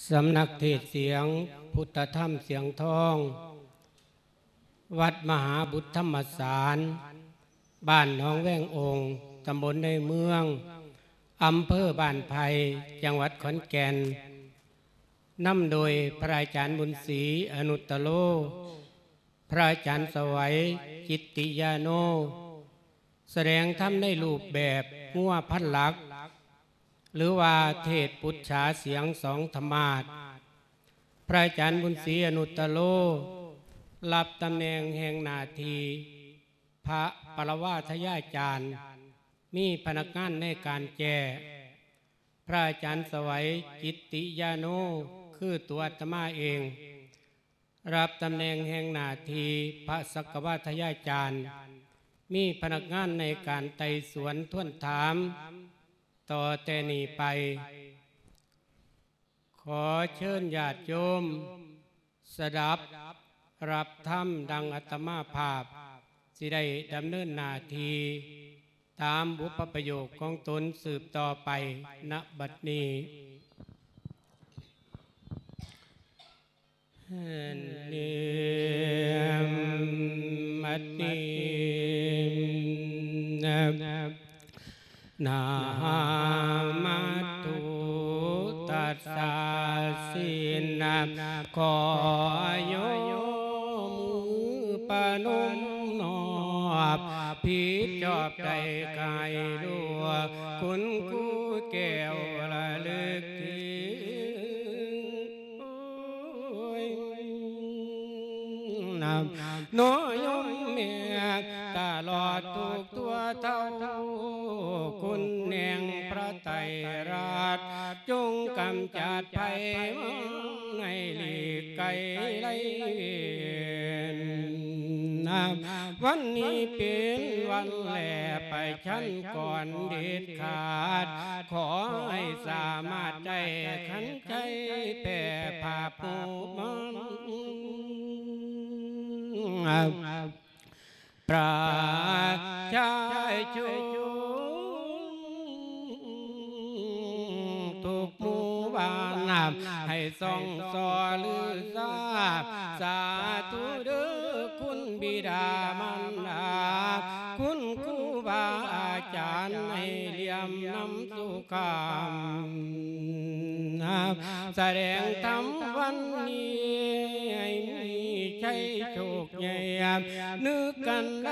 สำนักเทศน์เสียงพุทธธรรมเสียงทอง วัดมหาบุตรธรรมสาร บ้านหนองแวงองค์ ตำบลในเมือง อำเภอบ้านไผ่ จังหวัดขอนแก่น นำโดยพระอาจารย์บุญศรี อนุตตโร พระอาจารย์ไสวัย กิตติยาโน แสดงธรรมในรูปแบบงัวพันหลัก หรือว่าเทศน์ปุจฉาเสียงสองธรรมาสน์ พระอาจารย์บุญศรี อนุตตโร รับตำแหน่งแห่งหน้าที่พระปรวาทยาจารย์ มีพนักงานในการแจ้ พระอาจารย์ไสวัย กิตติยาโน คือตัวอาตมาเอง รับตำแหน่งแห่งหน้าที่พระสักกวาทยาจารย์ มีพนักงานในการไต่สวนทวนถาม ต่อแต่นี้ไป ขอเชิญญาติโยมสดับรับธรรมดังอาตมาภาพสิได้ดำเนินหน้าที่ตามบุพประโยคของตนสืบต่อไป ณ บัดนี้ นะหะมะตุ ตัสสะ สินะ ขอยกมือประนมนอบ ผิดชอบได้กายหลวง คุณครูแก้วระลึกถึง นำ น้อยยมแม่ตลอดทุกทั่วเท่า คุณแห่งพระไตรรัตน์ จงกำจัดภัยมารให้หลีกไกลไร้เวร วันนี้เป็นวันแลประชันก่อนเด็ดขาด ขอให้สามารถได้ขัน ใจแผ่ภาพผู้มัน ประชาชนทุกหมู่บ้าน ให้ส่องสอลือซา สาธุเด้อคุณบิดามารดา คุณครูบาอาจารย์ ให้เหลี่ยมนำสุข คำ แสดงธรรมวันนี้ ให้มีชัยโชคใหญ่ นึกกันใด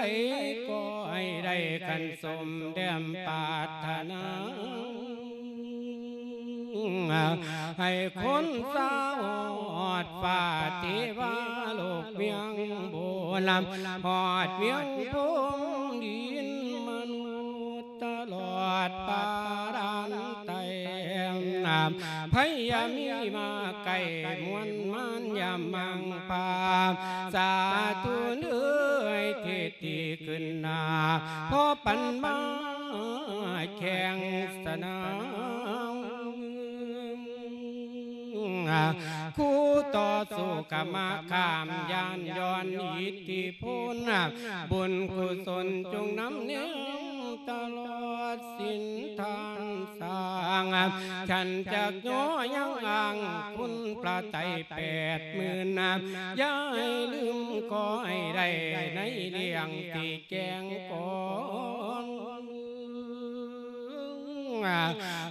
ก็ให้ได้กันสมดังปรารถนา ให้คนสาวฮอดฟ้าเทวาโลกเวียงบุญ ฮอดเวียงพรหมดินมนุษย์ ตลอดป่าด่านใต้ ภัยอย่ามีมาใกล้ มวลมารอย่ามั่งพา สาธุเด้อ เทศน์ที่ขึ้นหน้า พอปันมาแข่งสนาม คู่ต่อสู้กะมาข้าม ย้านย้อนอิทธิพล บุญกุศลจงนำแนมตลอดสิ้นทางสร้าง ฉันจักย่อยังอ้างคุณพระไตรแปดหมื่น อย่าให้ลืมขอให้ได้ในเรื่องที่แจ้งก่อน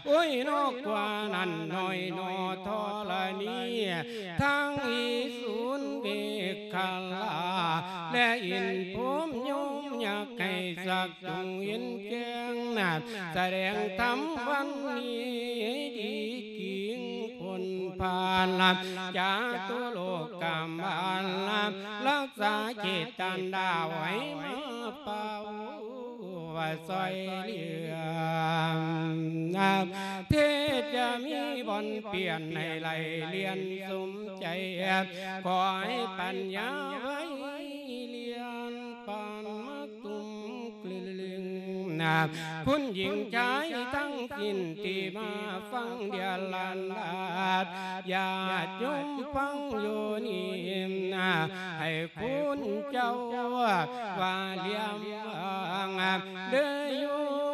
โอ้ย นอกกว่านั้นน้อยหนอธรณี ทั้งอีสูนเมขลา และอินพรหมยมอยากให้สักจงเห็นแจ้ง แสดงธรรมวันนี้ดีจริง พ้นผ่านจาตุโลกกามาน รักษาเจตนาไว้มาเป่า ว่าซอยเหลือ เทศน์จะมีบ่อนเปลี่ยนให้ไหลเรียนสมใจ ขอให้ปัญญาไว้เรียนปานมักตุ้มกลึง คุณหญิงชายทั้งสิ้นที่มาฟังเดียลานดาด ญาติโยมฟังอยู่นี่ ให้คุณเจ้าว่าเลี้ยงวางเด้อโยม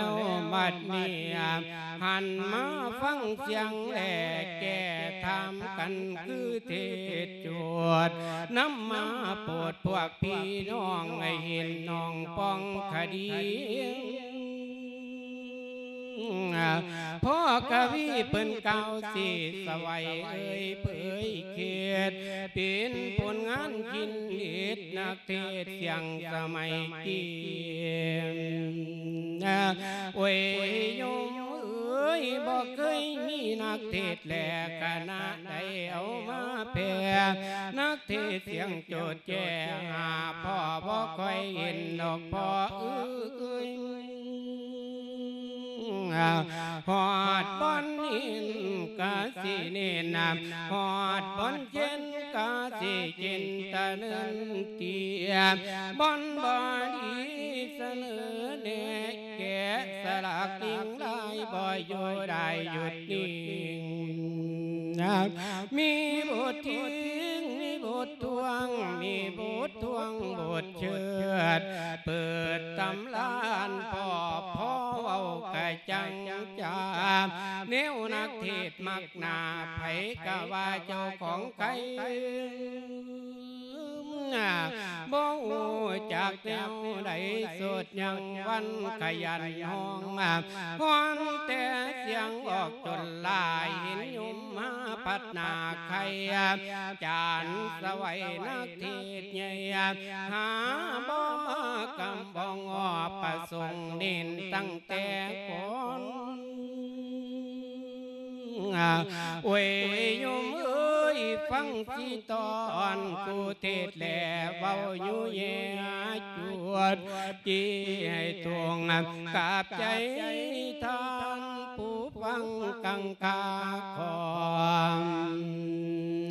ວບັດນີ້ ຫັນມາຟັງສຽງແລແກ່ຖາມກັນຄືເທດໂຈດ ນຳມາໂປດພວກພີ່ນ້ອງໃຫ້ເຫັນໜອງປ່ອງຄະດີ. ພໍ່ກະວີເພິ່ນກ່າວຊີ້ສະໄຫວເອີຍເຜີຍເຂດ ເປັນຜົນງານຄິນເຮັດນັກເທດສຽງສະໄໝກີ້. ໂອ້ຍໂຍມເອີຍ ບໍ່ເຄີຍມີນັກເທດແລຄະນະໃດເອົາມາແຜ່ ນັກເທດສຽງໂຈດແຈ້ຫາພໍ່ບໍ່ຄ່ອຍເຫັນດອກພໍ່ເອີຍ. ຮອດບ່ອນເຫັນກະຊິເນັ້ນນຳ ຮອດບ່ອນເຫັນກະຊິເຫັນຕະເນີນເຕຍ ບ່ອນບໍ່ດີສະເໜີແນະ ແກະສະຫຼັກຍິງລາຍບໍ່ຢູ່ໄດ້ຢຸດນິ່ງ. ມີບົດທິງ ມີບົດທວງ ມີບົດທວງບົດເຊີດ ເປີດຕຳລານພໍ່ ພໍເວົ້າກະຈັງຈາ ແນວນັກເທດມັກໜ້າ ໃຜກະວ່າເຈົ້າຂອງໄກ ບໍ່ຮູ້ຈັກແນວໃດ ສົດຍັງວັນຂະຫຍັນຮ້ອງ ຮ້ອງແຕ່ສຽງອອກຈົນຫຼາຍ ເຫັນໂຍມມາພັດໜ້າໄຂ່ ຈານສະໄຫວນັກເທດໃຫຍ່ ຫາບໍ່ມາກຳບ້ອງອອກ ປະສົງເນັ້ນຕັ້ງແຕ່ກ່ອນ. ໂອ້ຍໂຍມເອີຍ ຟັງຊິຕອນຜູ້ເທດແລເວົ້າຢູ່ແຍຈວດ ຈີໃຫ້ຕົງກາບໃຈທ່ານຜູ້ຟັງກັງຄາຂອງ.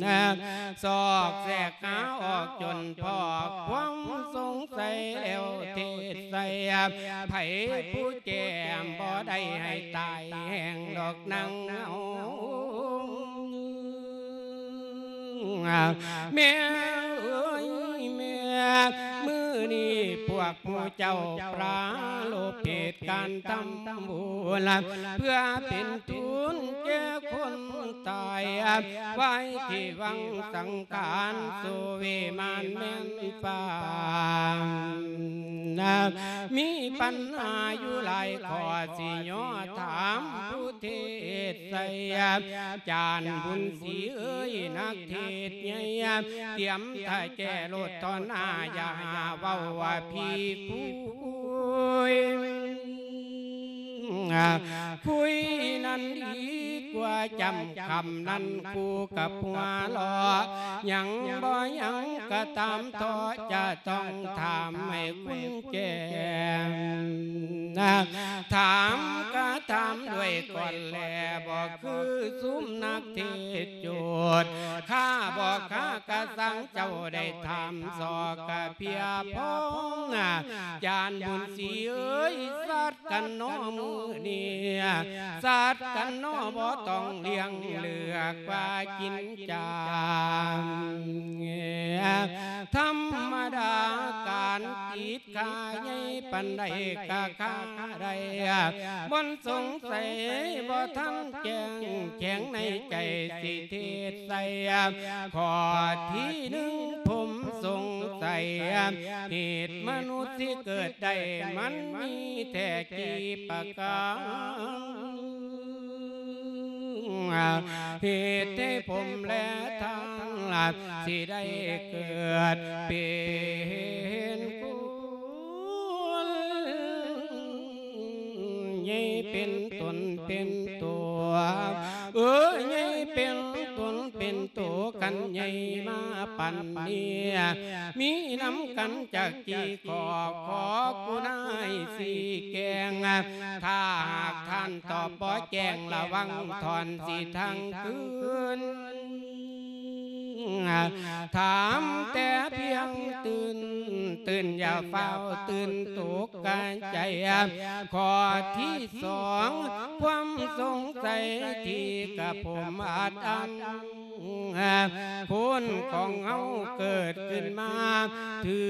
ສອກແຊກຫາອອກຈົນພໍຄວາມສົງໄສແລ້ວເທດໃສ່ ໃຜຜູ້ແຈ້ງບໍ່ໄດ້ໃຫ້ຕາຍແຮງດອກນາງເອົາ. ແມ່ເອີຍແມ່ ມື້ນີ້ພວກໝູ່ເຈົ້າປາລົບເຫດການທຳບຸນ ເພື່ອເປັນທຶນແກ່ຄົນຕາຍ ໄວ້ທີ່ວັງສັງຂານ ສຸວິມານແມ່ນຟ້າ ມີບັນຫາຢູ່ຫຼາຍຂໍ້ ຊິຍໍຖາມຜູ້ເທດໃສ່ ຈານບຸນສີເອີຍ ນັກເທດໃຫຍ່ ຕຽມຖ້າແກ້ໂລດຕໍ່ໜ້າ ຢ່າຫາເວົ້າວ່າຜີຄຸຍ ຄຸຍນັ້ນດີກວ່າຈຳ ຄຳນັ້ນຄູ່ກັບຫົວເລາະ ຍັງບໍ່ຍັງກໍຕາມເທາະ ຈະຕ້ອງຖາມໃຫ້ຄຸນແຈ້ງ ຖາມກະຖາມດ້ວຍກ່ອນແລ ບໍ່ຄືຊຸມນັກເທດໂຈດ ຂ້າບໍ່ຄ້າກະສັງເຈົ້າໄດ້ຖາມ ຊອກກະພຽພອມ ຈານບຸນສີເອີຍ ສັດກັນນໍມື້ນີ້ ສັດກັນນໍບໍ່ຕ້ອງລ້ຽງເລືອກວ່າກິນຈານ ທຳມະດາການຕິດຂ້າໃຫຍ່ປານໃດກະຂ້າໄດ້ ບໍ່ສົງໄສ ບໍ່ທັນແຈ້ງແຂງໃນໃຈ ຊິເທດໃສ່ ຂໍ້ທີໜຶ່ງຜົມສົງໄສ ເຫດມະນຸດຊິເກີດໄດ້ ມັນມີແທ້ກີ່ປະການ ເຫດໃຫ້ຜົມແລທ່ານ ຊິໄດ້ເກີດເປັນຄົນ ໃຫຍ່ເປັນຕົນເປັນຕົວ ເອີ ໃຫຍ່ເປັນຕົນເປັນໂຕ ຄັນໃຫຍ່ມາປານນີ້ ມີນຳກັນຈັກກີ່ຂໍ້ ຂໍກຸນາໃຫ້ຊີ້ແຈງ ຖ້າຫາກທ່ານຕອບບໍ່ແຈ້ງ ລະວັງທ່ອນຊິທັງຄືນ ຖາມແຕ່ພຽງຕື່ນ ຕື່ນຢ່າຟ້າວຕື່ນຕົກກະໃຈ ຂໍ້ທີສອງ ຄວາມສົງໄສທີ່ກະຜົມອັດອັ້ນ ຄົນຂອງເຮົາເກີດຂຶ້ນມາ ຖື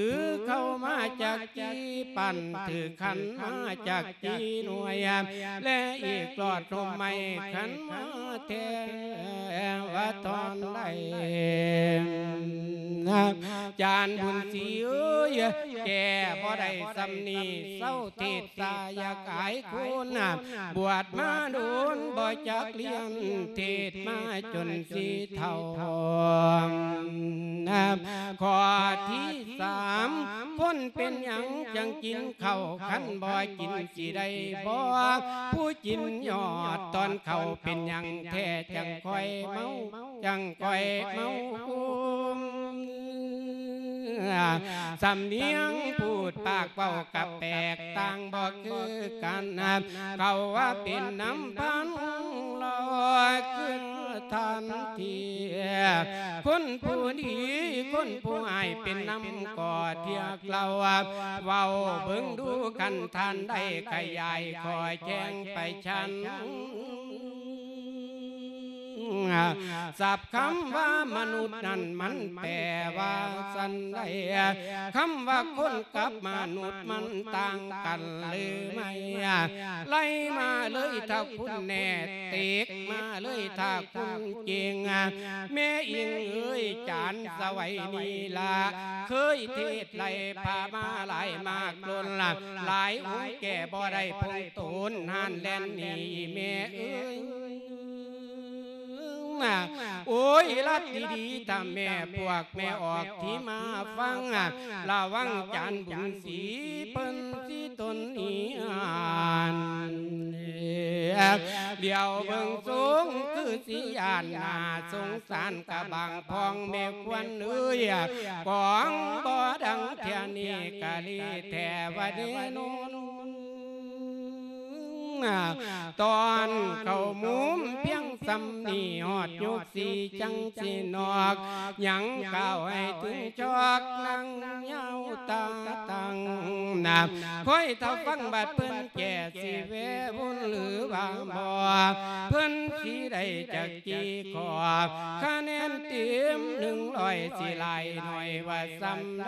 ເຂົ້າມາຈັກ ຈີ່ປັ້ນຖືກຂັນມາຈັກຈີ່ໜ່ວຍ ແລະອີກຫຼອດລົມໄມ້ຂັນມາແທ້ວ່າຕອນໃດ ຈານບຸນສີເອີຍ ແກ້ບໍ່ໄດ້ສ່ຳນີ້ ເຊົາເທດສາ ຢາກອາຍຄົນ ບວດມາດົນບໍ່ຈັກລຽນ ເທດມາຈົນຊິເຖົ້າ ຂໍ້ທີ ສາມ ຄົນເປັນຫຍັງຈັ່ງກິນເຂົ້າ ຄັນບໍ່ກິນຊິໄດ້ບໍ່ ຜູ້ກິນຍອດຕອນເຂົ້າ ເປັນຫຍັງແທ້ຈັ່ງຄ່ອຍເມົາ ຈັ່ງຄ່ອຍເມົາ ສຳນຽງພູດປາກເວົ້າກະແປກຕ່າງບໍ່ຄືກັນ ເຂົາວ່າເປັນນຳພັນລອຍຄືທັນທີ ຄົນຜູ້ດີຄົນຜູ້ຮ້າຍເປັນນຳກໍທຽກເລົ່າ ເວົ້າເບິ່ງດູຄັນທ່ານໄດ້ຂະຫຍາຍຂໍ້ແຈ້ງໄປຊັ້ນ ສັບຄຳວ່າມະນຸດນັ້ນມັນແປວ່າຊັ້ນໃດ ຄຳວ່າຄົນກັບມະນຸດມັນຕ່າງກັນຫຼືໄໝ ໄລ່ມາເລີຍຖ້າຄຸນແນ່ ເຕັກມາເລີຍຖ້າຄຸນເກັ່ງ ແມ່ອີງເອີຍ ຈານສະໄຫວນີ້ລະ ເຄີຍເທດໄລ່ພາມາຫຼາຍມາກດົນລະ ຫຼາຍອົງແກ້ບໍ່ໄດ້ພົງໂຕນ ຮ້ານແລ່ນໜີແມ່ເອີຍ. ໂອ້ຍ ລັດດີໆ ຖ້າແມ່ພວກແມ່ອອກທີ່ມາຟັງ ລະວັງຈານບຸນສີເພິ່ນຊິຕົນໜີ ດຽວເບິ່ງຊົງຄືຊິຢ້ານໜ້າສົງສານກະບາງພອງແມ່ຄວັນເອີຍ ກອງບໍ່ດັງເທື່ອນີ້ກະລີແທ້ວ່າແນ່ນອນ. ຕອນເຂົ້າມຸມພຽງສ່ຳນີ້ ຮອດຍຸກສີ່ຈັ່ງຊິນອກ ຍັງກ່າວໃຫ້ເຖິງຈອກ ນັ່ງຍາວຕາຕັ້ງນາ ຄອຍຖ້າຟັງບາດເພິ່ນແກ່ ຊິແວວຸນຫຼືວ່າບໍ່ ເພິ່ນຊິໄດ້ຈັກຈີ້ຂໍ ຄະແນນເຕັມໜຶ່ງຮ້ອຍ ຊິຫຼາຍໜ້ອຍວ່າສ່ຳໃດ.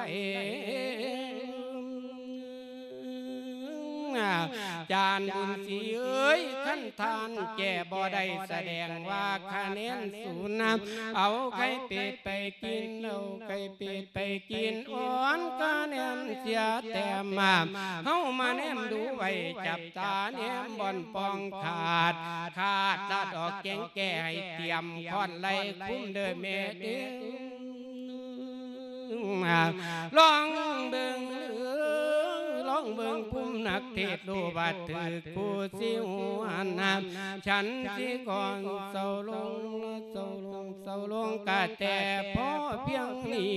ຈານບຸນສີເອີຍ ຄັນທ່ານແກ່ບໍ່ໄດ້ ສະແດງວ່າຄະແນນສູນນຳ ເອົາໄກ່ເປັດໄປກິນ ເອົາໄກ່ເປັດໄປກິນ ອ່ອນຄະແນນເສຍແຕ້ມມາ ເຮົາມາແນມດູໄວ້ ຈັບຕາແນມບ່ອນປ່ອງຂາດ ຂາດລາດອອກແກງແກ່ ໃຫ້ຕຽມຄ້ອນໄລ່ຄຸມເດີແມ່ເດີ. ລອງເບິ່ງເດີ ລອງເບິ່ງພູມນັກເທດ ຮູ້ວ່າຖືກຜູ້ຊິຫວນນຳ ສັນຕິກອນເຊົາລົງ ເຊົາລົງ ເຊົາລົງ ກະແຕ່ພໍພຽງນີ້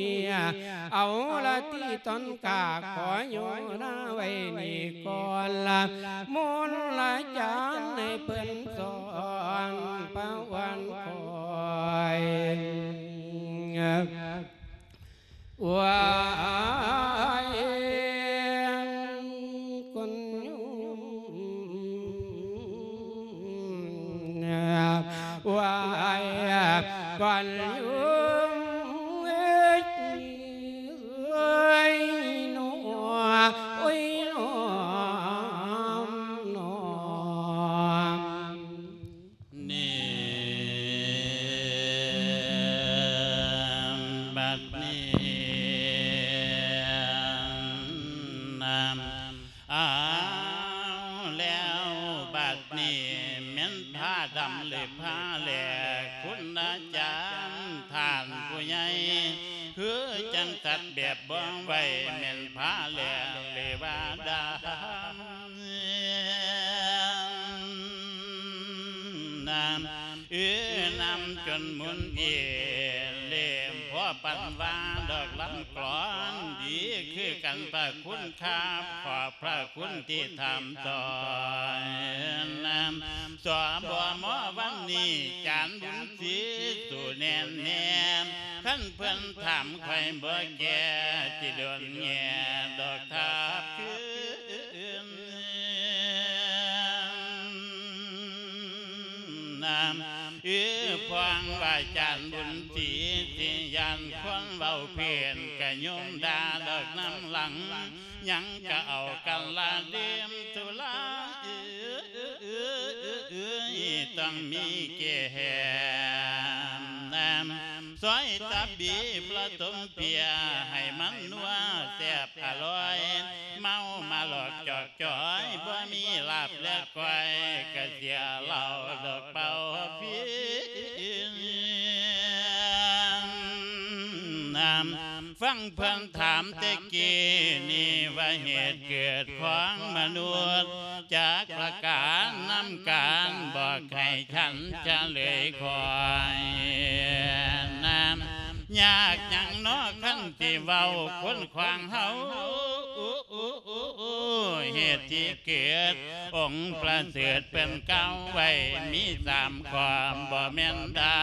ເອົາລະຕິຕອນກາ ຂໍໂຍນາໄວ້ນີ້ກ່ອນລະ ມົນລະຈານໃຫ້ເພິ່ນສອນປະວັນຂ້ອຍ. ວາຍ ຄົນຍູ ວາຍ ຄົນຍູ ເອີຍ ໂນ ໂອ້ຍ ໂນ ໂນ. ນີ້ ບັດນີ້ນະ ອ້າວ ແລ້ວບັດນີ້ແມ່ນຜ້າດຳຫຼືຜ້າແລ ຄຸນອາຈານທ່ານຜູ້ໃຫຍ່ ຄືຈັ່ງຕັດແບບບ່ອງໄວ້ ແມ່ນຜ້າແລຫຼືວ່າດຳ ນຳ ອື ນຳຈົນໝຸນເອເລ່ມ ພໍປານວ່າດອກລຳກລອນ ດີຄືກັນພະຄຸນຄາບ ຂອບພະຄຸນທີ່ຖາມຕອຍນຳ ສບມ ວັນນີ້ ຈານບຸນສີ ສູ້ແໜ້ນແນມ ຄັນເພິ່ນຖາມຂ້ອຍບໍ່ແກ່ ຊິໂດນແຍ່ດອກທາບຄືນ ນຳ ອື ພວງວ່າຈານບຸນສີ ຊິຢ້ານຄົນເວົ້າເພ້ນ ກະຍົມດ່າດອກນຳຫຼັງ ຍັງກະເອົາກັນລະດື່ມສຸລາ ອື ຕ້ອງມີແກ້ມ ນຳ ຊອຍຕັບບີປະຕົມເປຍ ໃຫ້ມັນນົວແຊບອະລ່ອຍ ເມົາມາຫຼອກຈອກຈອຍ ບໍ່ມີລາບແລະກ້ອຍ ກະເສຍເຫຼົ້າດອກເປົ່າພີນ ນຳ ຟັງເພິ່ນຖາມແຕ່ກີ້ນີ້ວ່າ ເຫດເກີດຂອງມະນຸດຈັກປະການ ນຳການບອກໃຫ້ສັນສະເຫຼີຍຂ້ອຍ ນຳ ຍາກຫຍັງນໍຄັນຊິເວົ້າຄົນຂວາງເຮົາ ເຫດທີ່ເກີດ ອົງປະເສີດເພິ່ນກ່າວໄວ້ ມີສາມຂໍ້ ບໍ່ແມ່ນດາ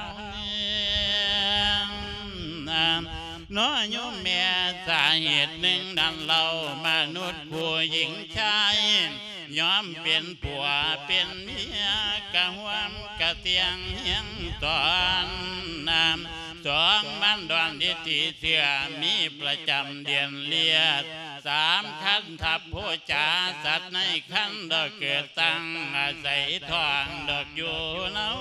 ວເນາະໂຍມແມ່ ສາເຫດໜຶ່ງນັ້ນເຫຼົ່າ ມະນຸດຄູ່ຍິງຊາຍ ຍອມເປັນຜົວເປັນເມຍ ກະຮ່ວມກະຕຽງຮຽງຕອນນຳ ສອງມັນດອນທີ່ຕີເຊື່ອ ມີປະຈຳເດືອນລຽດ ສາມຄັນທັບໂພຈາ ສັດໃນຄັນດອກເກີດຕັ້ງ ອາໄສທ້ອງດອກຢູ່ເນົາ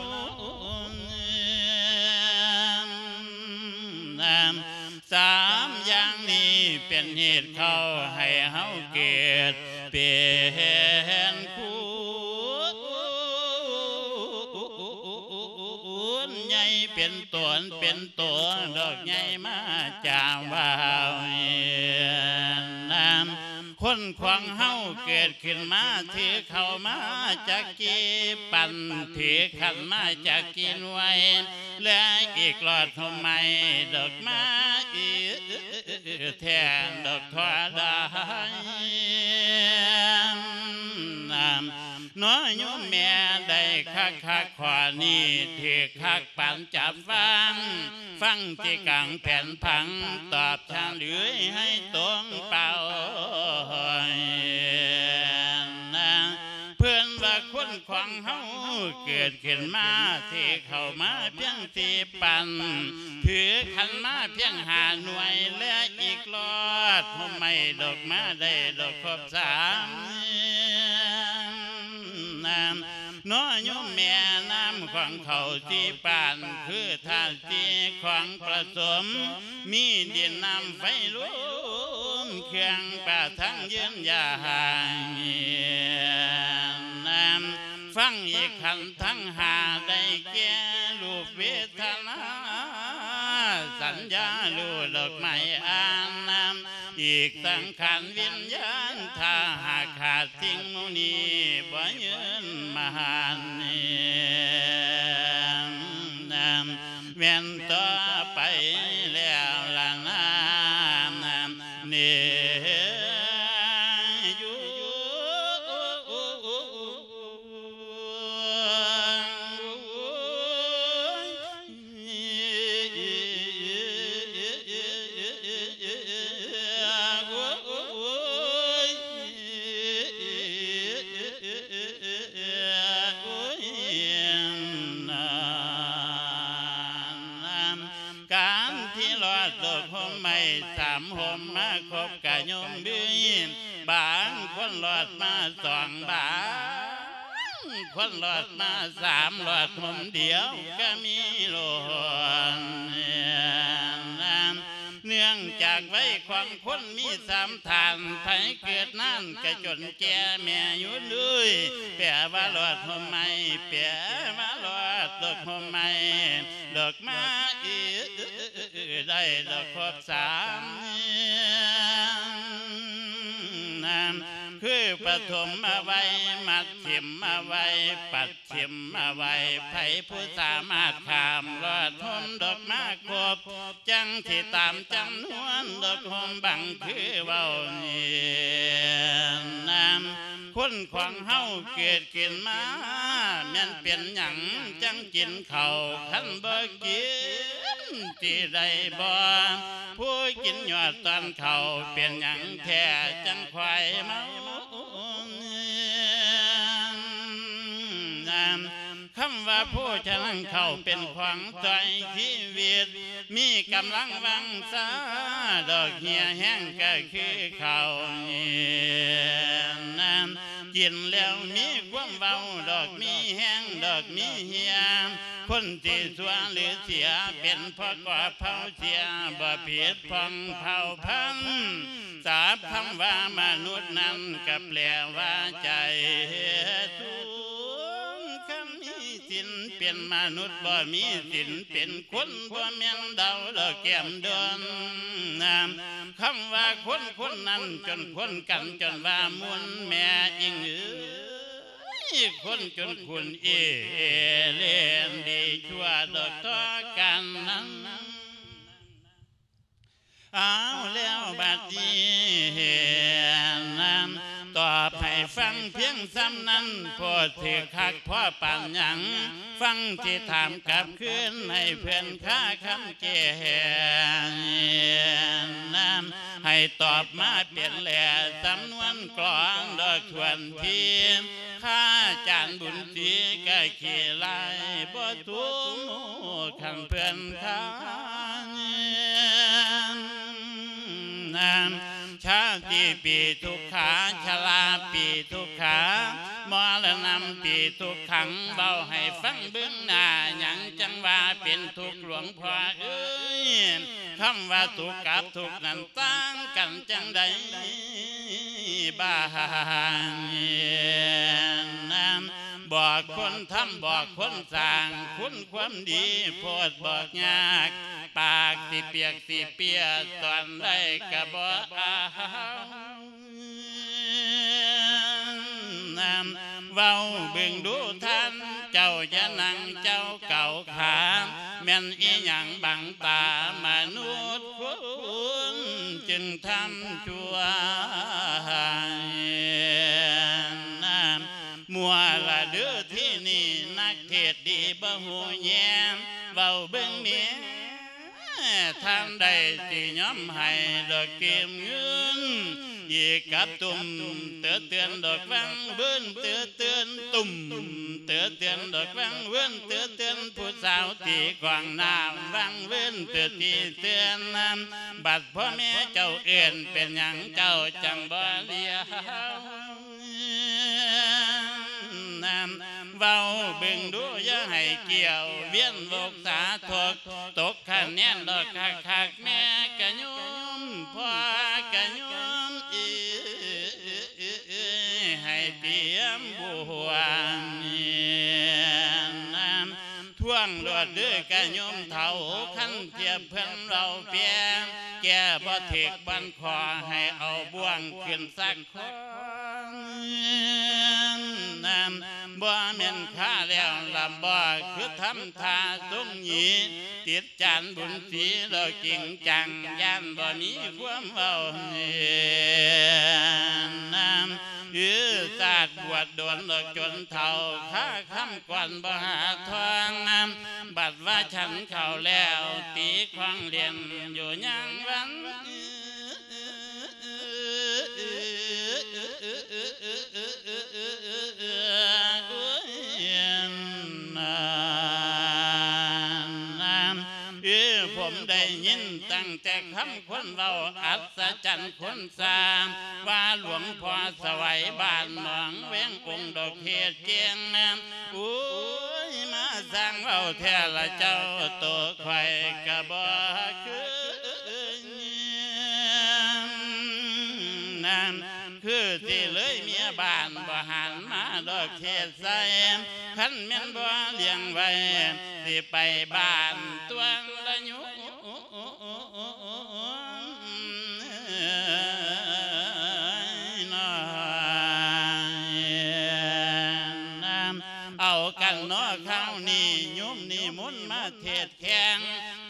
ສາມຢ່າງນີ້ເປັນເຫດເຂົ້າໃຫ້ເຮົາເກີດເປັນຄູນໃຫຍ່ ເປັນຕົນເປັນໂຕ ດອກໃຫຍ່ມາຈາກວ່າວ ນຳ ຄົນຂອງເຮົາເກີດຂຶ້ນມາ ຖືເຂົ້າມາຈາກກີ່ປັນ ຖືຂັນມາຈາກກີ່ໜ່ວຍ ແລະ ອີກຫຼອດຫົ່ມໄມ້ ດອກມາອີກແທນດອກທົ່ວດາຍ ນຳ ເນາະໂຍມແມ່ ໄດ້ຄັກໆ ຂໍ້ນີ້ຖືກຄັກປານຈັບວາງ ຟັງທີ່ກາງແຜນຜັງ ຕອບສະເຫຼີຍໃຫ້ຕົງເປົ້າ. ເພິ່ນວ່າຄົນຂອງເຮົາເກີດຂຶ້ນມາ ທີ່ເຂົ້າມາພຽງສີ່ປັນ ຖືຂັນມາພຽງຫ້າໜ່ວຍ ແລະອີກລອດຫົ່ມໄມ້ດອກມາໄດ້ດອກຄົບສາມ ນາມເນາະໂຍມແມ່ ນາມຂອງເຂົາສີ່ປານ ຄືທາດສີ່ຂອງປະສົມ ມີດິນນ້ຳໄຟລົມ ເຄື່ອງປະທັງຢືນຢາງ ນາມ ຟັງອີກຂັນທັງຫ້າ ໄດ້ແກ່ຮູບເວທະນາ ສັນຍາ ຮູດອກໄມ້ອານນາມ ອີກສັງຂານວິນຍານ ຖ້າຫາກຂາດສິ່ງໝູ່ນີ້ ບໍ່ຍືນມານ ແມ່ນຕໍ່ໄປແລ້ວລະນາ ນີ້ຢູ່. ການທີ່ລອດດອກຫົ່ມໄມ້ສາມຫົ່ມມາຄົບກະຍົມເບຍ ບາງຄົນລອດມາສອງ ບາງຄົນລອດມາສາມ ລອດຫົ່ມດຽວກະມີໂລດ. ເນື່ອງຈາກໄວຂອງຄົນມີສາມທ່ານ ໃຜເກີດນານກະຈົນແກ່ແມ່ຢູ່ເລີຍ ແປວ່າລອດຫົ່ມໄມ້ ແປວ່າລອດດອກຫົ່ມໄມ້ ດອກມາອີກ ໄດ້ດອກຄົບສາມ ຄືປະຖົມມະໄວ ມັດເຂັມມະໄວ ປັດເຂັມມະໄວ ໃຜຜູ້ສາມາດຂ້າມລອດຫົ່ມດອກມາຄົບ ຈັ່ງຊິຕາມຈຳນວນດອກຫົ່ມບັງຄືເວົ້ານີ້ ນາມ ຄົນຂອງເຮົາເກີດຂຶ້ນມາ ແມ່ນເປັນຫຍັງຈັ່ງກິນເຂົ້າ ຄັນບໍ່ກິນຊິໄດ້ບໍ່ ຜູ້ກິນຍອດຕອນເຂົ້າ ເປັນຫຍັງແທ້ຈັ່ງຄ່ອຍເມົາ ນາມ ຄຳວ່າໂພຊະນາເຂົ້າເປັນຂອງຊ່ອຍຊີວິດ ມີກຳລັງວັງຊາ ດອກເຫື່ອແຮງກະຄືເຂົ້ານີ້ ກິນແລ້ວມີຄວາມເວົ້າ ດອກມີແຮງ ດອກມີເຫື່ອ ຄົນທີ່ຊົ່ວຫຼືເສຍ ເປັນເພາະກອບເຜົາເສຍ ບໍ່ຜິດຜ່ອງເຜົ່າພັນ ສັບຄຳວ່າມະນຸດນັ້ນກະແປວ່າໃຈສູງ ຄັນມີສິນເປັນມະນຸດ ບໍ່ມີສິນເປັນຄົນ ບໍ່ແມ່ນດາວດອກແກ້ມດົນ ຄຳວ່າຄົນຄົນນັ້ນ ຈົນຄົນກັນຈົນວ່າມຸນ ແມ່ອີງເອີຍ ຄົນຈົນຄຸນເອເລນ ດີຊົ່ວດອກຕໍ່ກັນນັ້ນ. ເອົາແລ້ວບັດນີ້ ຕອບໃຫ້ຟັງພຽງສ່ຳນັ້ນ ໂພດຖືກຄັກພໍປານຫຍັງ ຟັງຊິຖາມກັບຄືນໃຫ້ເພິ່ນຄາຄຳແກ່ ໃຫ້ຕອບມາເປັນແຫຼະ ສຳນວນກລອງດອກຖ້ວນທີ ຂ້າຈານບຸນສີກະຂີ້ລາຍບໍ່ທຸກ ຄັນເພິ່ນຄານ ຊາຕິປີທຸກຂາ ຊະລາປີທຸກຂາ ມໍລະນຳປີທຸກຂັງ ເວົ້າໃຫ້ຟັງເບິ່ງໜ້າ ຫຍັງຈັ່ງວ່າເປັນທຸກ ຫຼວງພໍ່ເອີຍ ຄຳວ່າທຸກກັບທຸກນັ້ນຕ່າງກັນຈັ່ງໃດ ບາງບອກຄົນທຳ ບອກຄົນສ້າງ ຄຸນຄວາມດີໂພດບອກຍາກ ປາກຊິປຽກຊິເປຍ ຕອນໃດກະບໍ່ອາຍ ເວົ້າເບິ່ງດູທ່ານເຈົ້າ ຢ່ານັ່ງເຈົ້າເກົາຂາ ແມ່ນອີຫຍັງບັງຕາມະນຸດຄົນ ຈຶ່ງທຳຊົ່ວ ນາມ ມົວ ດດີບໍ່ຮູ້ແຍມ ເວົ້າເບິ່ງແມ່ ທ່ານໃດຊິຍອມໃຫ້ດອກກີບເງິນ ອີກກັບຕຸ້ມ ເຕືອນດອກວັງເວີນ ເຕືອນຕຸ້ມ ເຕືອນດອກວັງເວີນ ເຕືອນຜູ້ສາວທີ່ຂວາງໜ້າວັງເວີນ ເຕືອນທີ່ເຕືອນນຳ ບັດພໍ່ແມ່ເຈົ້າເອີ້ນ ເປັນຫຍັງເຈົ້າຈັ່ງບໍ່ລຽວນຳ ເວົ້າເບິ່ງດູຢ່າໃຫ້ກ່ຽວ ວຽນວົກສາທົກ ຕົກຄະແນນດອກຄັກໆ ແມ່ກະຍອມ ພໍ່ກະຍອມ ເອີ ໃຫ້ຕຽມບວນນຳ ທວງໂລດເດີກະໂຍມເຖົ້າ ຄັນທຽບເພິ່ນເວົ້າແປ ແກ້ບໍ່ຖືກບ່ອນຂໍ ໃຫ້ເອົາບ່ວງຂຶ້ນສັກ ນຳ ບໍ່ແມ່ນຂ້າແລ້ວລຳບໍ່ ຄືທຳທ່າຊົງຫຍີ ຕິດຈານບຸນສີ ແລ້ວຈິງຈັງ ຢ້ານບໍ່ມີຄວາມເວົ້າ ນຳ ອື ຊາດບວດດົນແລ້ວຈົນເຖົ້າ ຄາຄຳກ່ອນບໍ່ຫາທອງ ນຳ ບັດວ່າສັນເຂົ້າແລ້ວ ຕີຂອງຫຼິ້ນຢູ່ຍາມວັນ ເອີ ຜົມໄດ້ຍິນຕັ້ງແຕ່ຄຳຄົນເວົ້າ ອັດສະຈັນຄົນສ້າງ ວ່າຫຼວງພໍ່ສະໄຫວບ້ານໜອງແວງ ອົງດອກເທດເກັ່ງ ໂອ້ຍ ມາສ້າງເວົ້າແທ້ລະເຈົ້າ ໂຕຂ້ອຍກະບໍ່ເຄີຍນຳ ຄືຊິເລີຍເມຍບ້ານ ບໍ່ຫັນມາດອກເຂດໃສ ຄັນແມ່ນບໍ່ລ້ຽງໄວ້ ຊິໄປບ້ານຕົວລະໂຍມ ເອົາກັນເນາະ ຄາວນີ້ໂຍມນິມົນມາເທດແຂ່ງ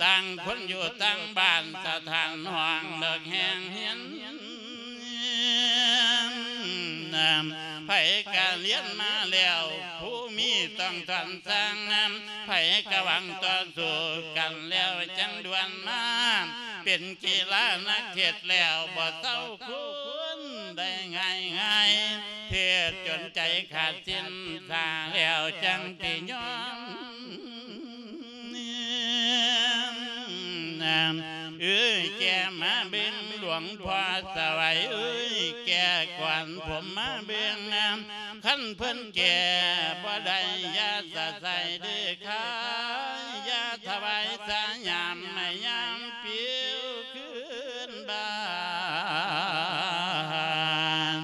ຕ່າງຄົນຢູ່ຕ່າງບ້ານ ສະຖານຫ້ອງເລິກແຮງຮຽນ ໃຜກະຮຽນມາແລ້ວ ຄູມີຕ້ອງຖອນສັ່ງ ໃຜກະຫວັງຕໍ່ສູ້ກັນແລ້ວຈັ່ງດ່ວນມາ ເປັນກິລານັກເທດແລ້ວບໍ່ເຊົາຄູນໄດ້ງ່າຍໆ ເທດຈົນໃຈຂາດສິ້ນສາແລ້ວຈັ່ງຊິຍອມ ເອີຍ ແກ່ມາເບິ່ງຫຼວງພໍ່ສະໄຫວ ເອີຍ ແກ່ກ່ອນຜົມມາເບິ່ງ ຄັນເພິ່ນແກ່ບໍ່ໄດ້ ຢ່າສະໄສເດີຂ້າ ຢ່າຖວາຍສະຫຍາມໃຫ້ຍາມປິວຄືນບ້ານ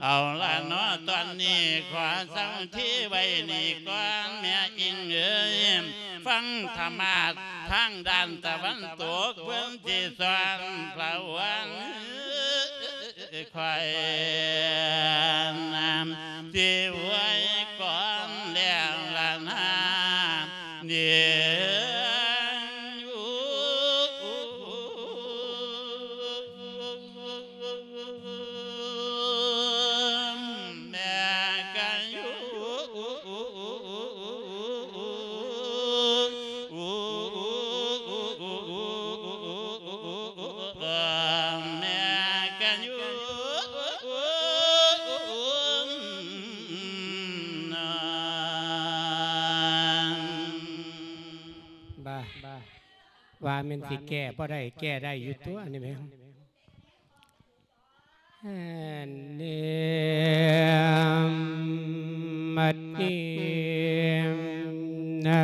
ເອົາລະເນາະ ຕອນນີ້ຂໍເຊົາທີ່ໄວ້ນີ້ກ່ອນ ແມ່ອິງເອີຍ ຟັງທຳມາດທາງດ້ານຕາເວັນຕົກ ເພິ່ນຊິສອນພະວັງ ຂ້ອຍນຳຊິອວຍກ່ອນແລ້ວລະນາ ເນ ແມ່ກະຢູ່ ແມ່ກະຢູ່ ບາ ວ່າແມ່ນຊິແກ້ບໍ່ໄດ້ ແກ້ໄດ້ຢູ່ຕົວະນີ້ແມ່ນ ແມ່ນເນ ບັດນີ້ນະ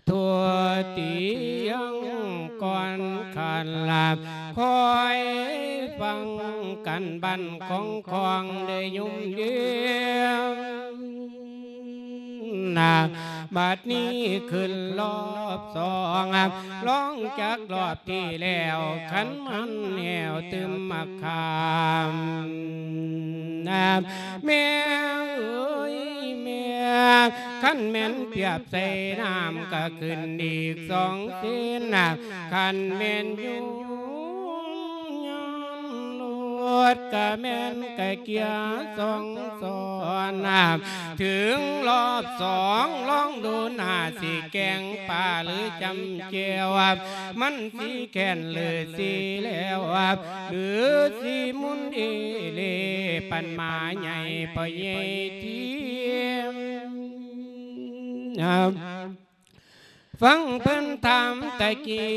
ທົ່ວຕີຍັງກ່ອນຂາດລາບ ຄອຍຟັງກັນບັ້ນຂອງຂອງໄດ້ຍົມເດ ນະ ບັດນີ້ຂຶ້ນລອບສອງ ລອງຈາກລອບທີ່ແລ້ວ ຄັນມັນແຫ້ວຕື່ມໝາກຂາມ ນະ ແມ່ເອີຍແມ່ ຄັນແມ່ນປຽບໃສ່ນ້ຳ ກະຂຶ້ນອີກສອງເຊນ ນະ ຄັນແມ່ນຢູ່ຍ້ອນໂລ ດກະແມ່ນກະເກຍສອງຊ້ອນ ເຖິງລອບສອງລອງດູໜ້າ ຊິແກງປາຫຼືຈຳແຈ່ວ ມັນຊິແຄ້ນຫຼືຊິແລ້ວ ຫຼືຊິໝຸນເອເລ ປັນໝາໃຫຍ່ພໍ່ໃຫຍ່ທຽມ. ຟັງເພິ່ນຖາມຕະກີ້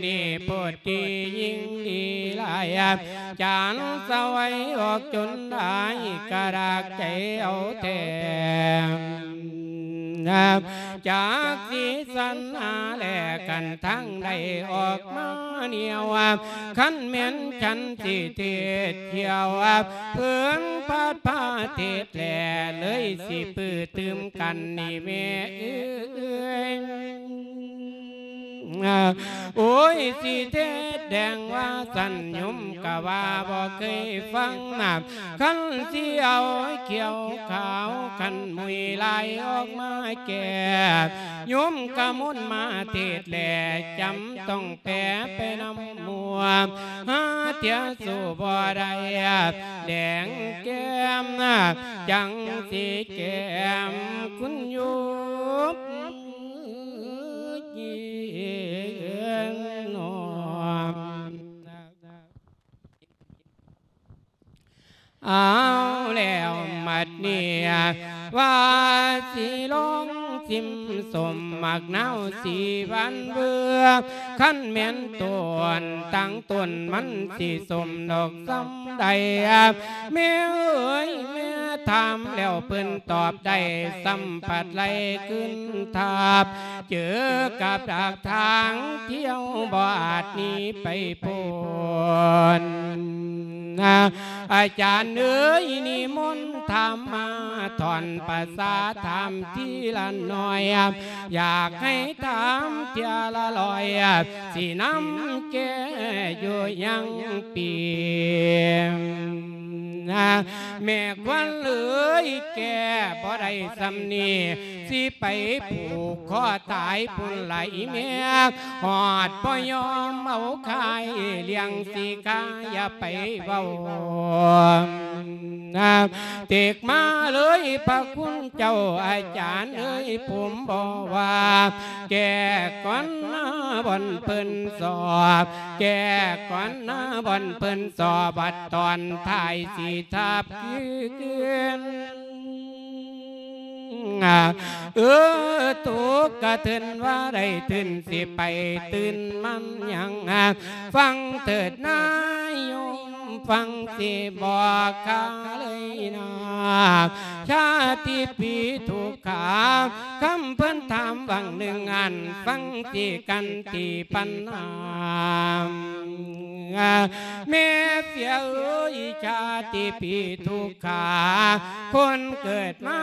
ນີ້ ໂພດດີຍິ່ງດີຫຼາຍ ຈານສະໄຫວອອກຈົນໄດ້ ກະດາກໃຈເອົາແທ້ ຈັກຊິສັນຫາແລກັນທາງໃດອອກມາແນວ ຄັນແມ່ນສັນຊິເທດຂຽວ ເພິ່ນພັດພາເທດແລ ເລີຍຊິປືຕື່ມກັນນີ້ແມ່ເອີຍ. ໂອ້ຍ ຊິເທດແດງວ່າຊັ້ນ ໂຍມກະວ່າບໍ່ເຄີຍຟັງນະ ຄັນຊິເອົາຂຽວຂາວ ຄັນມຸຍລາຍອອກມາແກ້ ໂຍມກະມົນມາເທດແລ ຈຳຕ້ອງແປໄປນຳໝູ່ ຫາເທື່ອສູ້ບໍ່ໄດ້ ແດງແກ້ມ ຈັ່ງຊິແກ້ມຄຸນຢູ່ເຢັນນອນ. ເອົາແລ້ວບັດນີ້ ວ່າຊິລອງຊິມສົ້ມໝາກນາວສີຫວານເວີ່ຍ ຄັນແມ່ນຕົ້ນຕ່າງຕົ້ນມັນຊິສົ້ມດອກສ່ຳໃດ ແມ່ເອີຍ ແມ່ຖາມແລ້ວເພິ່ນຕອບໄດ້ ສ່ຳພັດໄລ່ຄືນທາບ ເຈີກັບດາກທາງທ່ຽວ ບໍ່ອາດໜີໄປພົ້ນ. ອາຈານເອີຍ ນິມົນຖາມມາ ທ່ອນພາສາຖາມທີລະໜ້ອຍ ຢາກໃຫ້ຖາມເທື່ອລະຮ້ອຍ ຊິນຳແກ້ຢູ່ຍັງປີ. ແມ່ຂວັນເອີຍ ແກ້ບໍ່ໄດ້ສ່ຳນີ້ ຊິໄປຜູກຄໍຕາຍພຸ້ນລະອີແມ່ ຮອດບໍ່ຍອມເອົາຄາຍລ້ຽງສີຄາ ຢ່າໄປເວົ້າ ເຕັກມາເລີຍພະຄຸນເຈົ້າ ອາຈານເອີຍ ຜົມບໍ່ວ່າ ແກ້ກ່ອນນາບ່ອນເພິ່ນສອບ ແກ້ກ່ອນນາບ່ອນເພິ່ນສອບ ບັດຕອນທ້າຍຊິທາບຄືນ. ເອີ ຕົກກະເທີນວ່າໄດ້ຕື່ນ ຊິໄປຕື່ນມັນຫຍັງ ຟັງເຖີດນາໂຍມ ຟັງຊິບອກຂ້າເລີຍນາ ຊາຕິປີທຸກຂາ ຄຳເພິ່ນຖາມຫວ່າງໜຶ່ງອັນ ຟັງຊິກັນທີ່ປັນຫາ ແມ່ເສຍເອີຍ ຊາຕິປີທຸກຂາ ຄົນເກີດມາ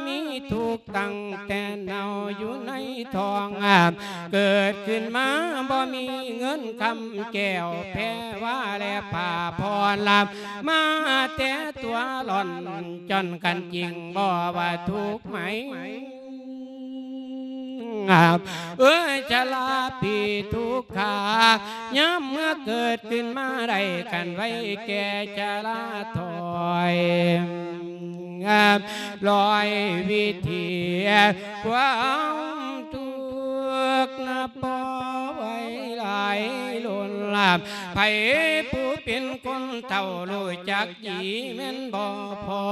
ມີທຸກຕັ້ງແຕ່ເນົ່າຢູ່ໃນທ້ອງ ເກີດຂຶ້ນມາບໍ່ມີເງິນຄຳແກ້ວແພວ່າ ແລະຜ້າຜ່ອນລຳ ມາແຕ່ຕົວລ່ອນຈ້ອນກັນຈິງບໍ່ວ່າທຸກໄໝ ເອີຍ ຊະລາປີທຸກຂາ ຍາມເມື່ອເກີດຂຶ້ນມາໄດ້ກັນໄວ້ແກ່ຊະລາຖອຍ ລອຍວິທີຄວາມທຸກນະບໍ່ໄຫວຫຼາຍລົ້ນລາ ໃຜຜູ້ເປັນຄົນເຖົ້າຮູ້ຈັກດີແມ່ນບໍ່ພໍ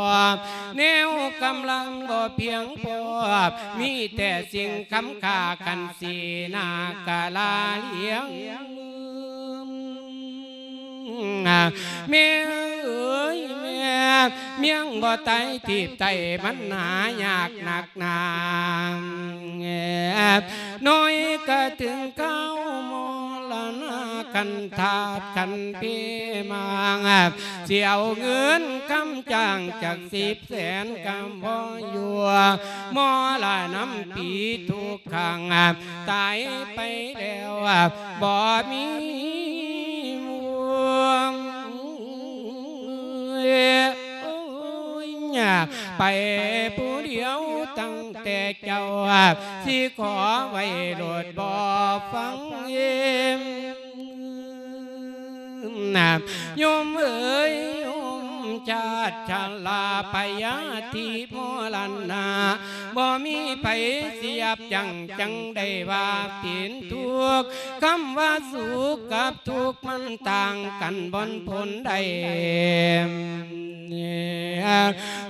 ແນວກຳລັງບໍ່ພຽງພໍ ມີແຕ່ສິ່ງຄ້ຳຄ່າ ຄັນສີໜ້າກະລາລ້ຽງ ແມ່ເອີຍແມ່ ມຽງບໍ່ຕາຍ ທີບໃຕ້ມັນຫາຍາກໜັກໜາ ນ້ອຍກະເຖິງຄາວມໍລະນະ ຄັນທາດຄັນເພມາ ຊິເອົາເງິນຄຳຈ້າງຈັກສິບແສນກະບໍ່ຢູ່ ມໍລະນຳປີທຸກຄັ້ງ ຕາຍໄປແລ້ວບໍ່ມີໝູ່ ໄປຜູ້ດຽວຕັ້ງແຕ່ເຈົ້າ ຊິຂໍໄວ້ໂລດບໍ່ຟັງເອ ໂຍມເອີຍ ໂຍມຊາດຊະລາ ໄປຍາທິມໍລະນະ ບໍ່ມີໃຜຊິຍັບຢັ້ງ ຈັ່ງໄດ້ວ່າເປັນທຸກ ຄຳວ່າສຸກກັບທຸກ ມັນຕ່າງກັນບ່ອນພົ້ນໃດ?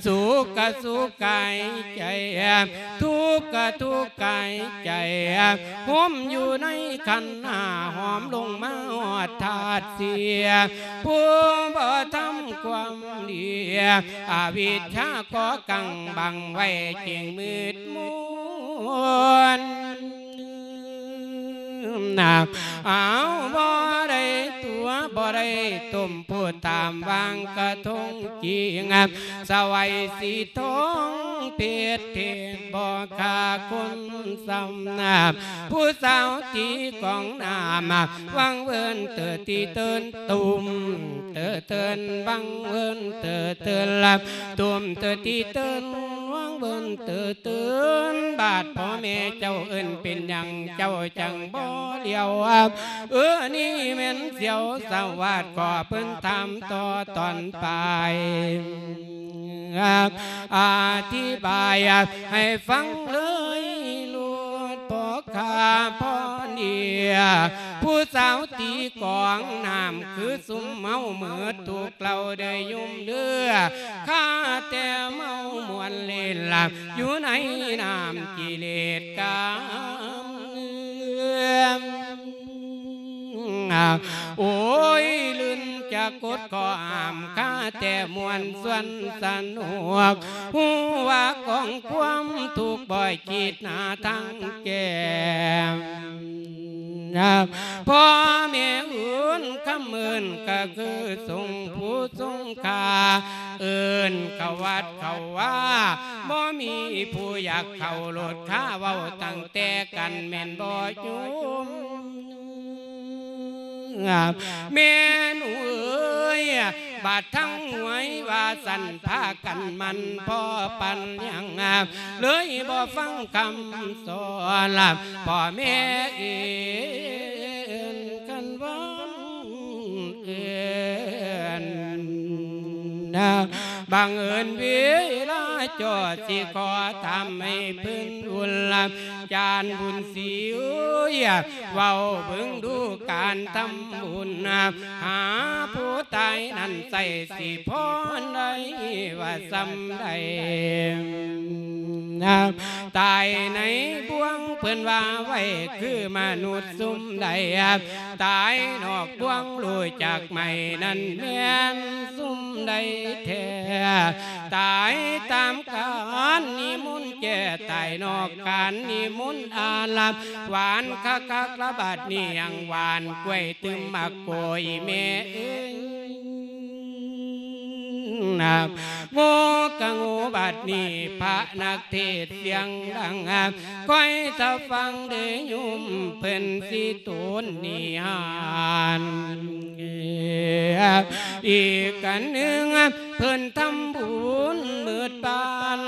ສຸກກະສຸກກາຍໃຈ ທຸກກະທຸກກາຍໃຈ ໂຮມຢູ່ໃນຂັນຫ້າ ຫອມລົງມາຮອດທາດສີ່ ຜູ້ບໍ່ທຳຄວາມດີ ອະວິດຊາກໍ່ກັງບັງໄວ້ ຈຶ່ງມືດມົນ ອ້າວ ບໍ່ໄດ້ຕົວະ ບໍ່ໄດ້ຕົ້ມ ຜູ້ຕາມວາງກະທົງຈິງ ສະໄຫວ້ສີທອງເພັດເທດ ບໍ່ຂ້າຄົນຊ້ຳນາ ຜູ້ສາວຕີກອງນ້ຳ ວັງເວີນເຕີຕີເຕີນ ຕຸ້ມເຕີເຕີນ ວັງເວີນເຕີເຕີນ ຕຸ້ມເຕີຕີເຕີນ ວັງເວີນເຕີເຕີນ ບາດພໍ່ແມ່ເຈົ້າເອີ້ນເປັນຫຍັງ ເຈົ້າຈັ່ງບໍ່ຫຼຽວ ເອີ ນີ້ແມ່ນສຽວສະຫວາດ ກໍເພິ່ນຖາມຕໍ່ຕອນປາຍ ອະທິບາຍໃຫ້ຟັງເລີຍໂລດ ພໍ່ຂ້າພໍ່ເນຍ ຜູ້ສາວຕີກອງນ້ຳ ຄືຊຸມເມົາເມີດທຸກເຫຼົ່າເດີໂຍມເດີ ຂ້າແຕ່ເມົາມ່ວນຫຼິ້ນລະ ຢູ່ໃນນ້ຳກິເລດກາມ ໂອ້ຍ ລື່ນຈະກົດກໍຫ້າມ ຂ້າແຕ່ມ່ວນຊວນສະໜຸກ ຮູ້ວ່າກອງຄວາມທຸກ ບໍ່ຄິດຫາທາງແກ້ ພໍ່ແມ່ເອີ້ນຄຳເອີ້ນ ກໍຄືຊົງຜູ້ຊົງຄ່າ ເອີ້ນເຂົ້າວັດເຂົ້າວາ ບໍ່ມີຜູ້ຢາກເຂົ້າໂລດ ຂ້າເວົ້າຕັ້ງແຕ່ກັນ ແມ່ນບໍ່ໂຍມ? ແມ່ນເອີຍ ບາດທັງຫວຍວ່າຊັ້ນ ພາກັນໝັ່ນພໍປານຫຍັງ ເລີຍບໍ່ຟັງຄຳສອນ ພໍ່ແມ່ເອີ້ນກັນວ່າເອີ້ນ ບັງເອີນເວລາຈໍ ຊິຂໍຖາມໃຫ້ເພິ່ນອຸ່ນລະ ຈານບຸນສີເອີຍ ເວົ້າເບິ່ງດູການທຳບຸນ ຫາຜູ້ຕາຍນັ້ນໃສ່ ຊິພໍໄດ້ວ່າສ່ຳໃດ? ຕາຍໃນບ່ວງເພິ່ນວ່າໄວ້ ຄືມະນຸດຊຸມໃດ ຕາຍນອກບ່ວງຮູ້ຈັກໄໝ້ ນັ້ນແມ່ນຊຸມໃດແທ້? ຕາຍຕາມການນິມົນແກ່ ຕາຍນອກການນິມົນອາລາມ ຫວານຄັກໆລະບາດນີ້ ຫຍັງຫວານກ້ວຍຕື່ມໝາກໂກຍ ແມ່ເອີຍ ໂງ່ກະໂງ່ບາດນີ້ ພະນັກເທດສຽງດັງ ຄອຍສະຟັງເດີໂຍມ ເພິ່ນຊິໂຕນນິທານ ອີກອັນໜຶ່ງ ເພິ່ນທຳບຸນໝົດບ້ານ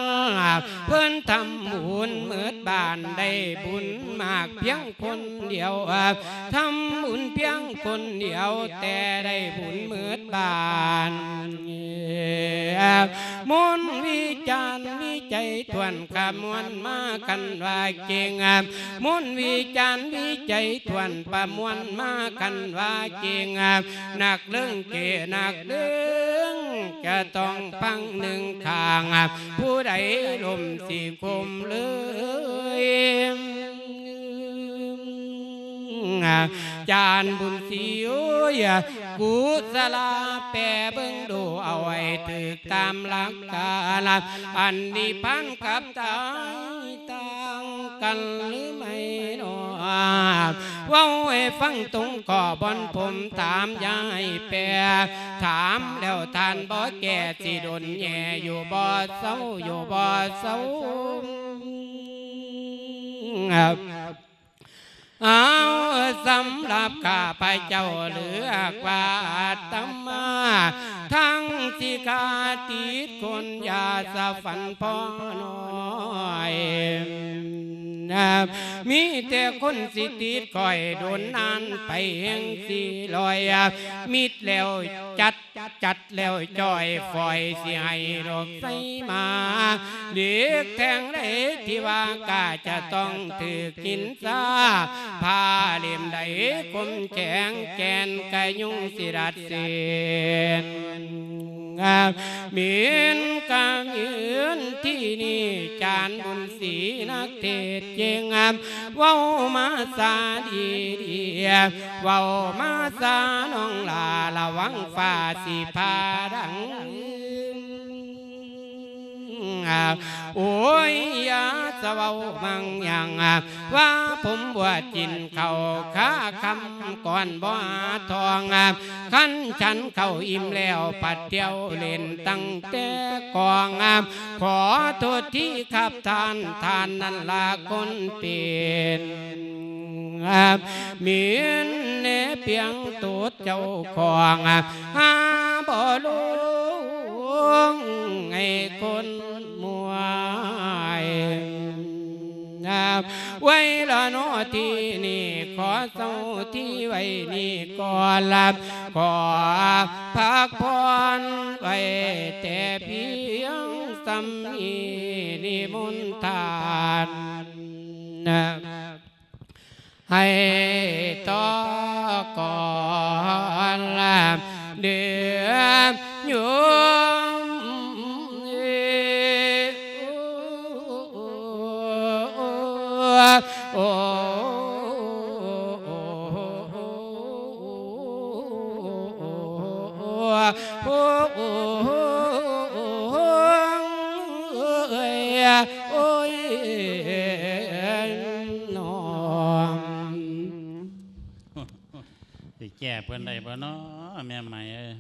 ເພິ່ນທຳບຸນໝົດບ້ານ ໄດ້ບຸນມາກພຽງຄົນດຽວ ທຳບຸນພຽງຄົນດຽວ ແຕ່ໄດ້ບຸນໝົດບ້ານ ມົນວິຈານວິໄຈຖ້ວນ ຂະມວນມາຄັນວ່າເກັ່ງ ມົນວິຈານວິໄຈຖ້ວນ ປະມວນມາຄັນວ່າເກັ່ງ ນັກເລິງເກ ນັກເລິງຈະຕ້ອງຟັງໜຶ່ງຂ້າງ ຜູ້ໃດລົມຊິຄົມເລີຍ ຈານບຸນສີເອີຍ ກຸສະລາແປເບິ່ງດູ ເອົາໃຫ້ຖືກຕາມຫຼັກການ ອັນນິບພານກັບຕາຍຕ່າງກັນຫຼືໄໝ້ນໍ? ເວົ້າໃຫ້ຟັງຕົງກໍບ່ອນຜົມຖາມ ຢ່າໃຫ້ແປ ຖາມແລ້ວທ່ານບໍ່ແກ້ ຊິດົນແຍ່ຢູ່ບໍ່ເຊົາ ຢູ່ບໍ່ເຊົາ ເ ເອົາ ສຳລັບຂ້າພະເຈົ້າເລືອກວ່າອາດຕະມາ ທັງສິຂາຕິດຄຸນ ຢ່າສະຝັນພໍນ້ອຍ ມີແຕ່ຄົນສິຕິດຂ້ອຍ ດົນນານໄປແຮ່ງສິລອຍ ມິດແລ້ວຈັດ ຈັດແລ້ວຈ່ອຍ ຝອຍຊິໃຫ້ດອກໄຊມາ ເຫຼັກແທ່ງໃດທີ່ວ່າກ້າ ຈະຕ້ອງຖືກຫີນຊາ ຜ້າເຫຼັ້ມໃດຄົມແຂງ ແກ່ນກະຍຸງຊິດັດເສັ້ນ ເໝັນກະເໝິນທີ່ນີ້ ຈານບຸນສີນັກເທດເກັ່ງ ເວົ້າມາສາດີໆ ເວົ້າມາສານ້ອງຫຼ້າ ລະວັງຟ້າຊິຜ່າດັງ. ໂອ້ຍ ຢ່າສະເວົ້າມັງຍັງ ວ່າຜົມບົວດກິນເຂົ້າຄາຄຳກ່ອນບໍ່ຫາທອງ ຄັນສັນເຂົ້າອີ່ມແລ້ວ ພັດທ່ຽວຫຼິ້ນຕັ້ງແຕ່ກອງ ຂໍໂທດທີຄັບທ່ານ ທ່ານນັ້ນລະຄົນເປັນ ເໝັນແນເປັນໂຕເຈົ້າຂອງ ຫາບໍ່ລົງໃຫ້ຄົນມວຍ ໄວ້ລະເນາະ ທີ່ນີ້ຂໍເຊົາທີ່ໄວ້ນີ້ກ່ອນລະ ຂໍພັກຜ່ອນໄວ້ແຕ່ພຽງສ່ຳນີ້ ນິມົນທ່ານ ໃຫ້ຕໍ່ກ່ອນລະເດີໂຍມ ໂອ້ ໂອ້ ໂອ້ ໂອ້ ໂອ້ ໂອ້ ໂອ້ຍ ໂອ້ຍ ນ້ອງ ຊິແກ້ເພິ່ນໄດ້ບໍ່ນໍ ແມ່ໄໝເອີຍ?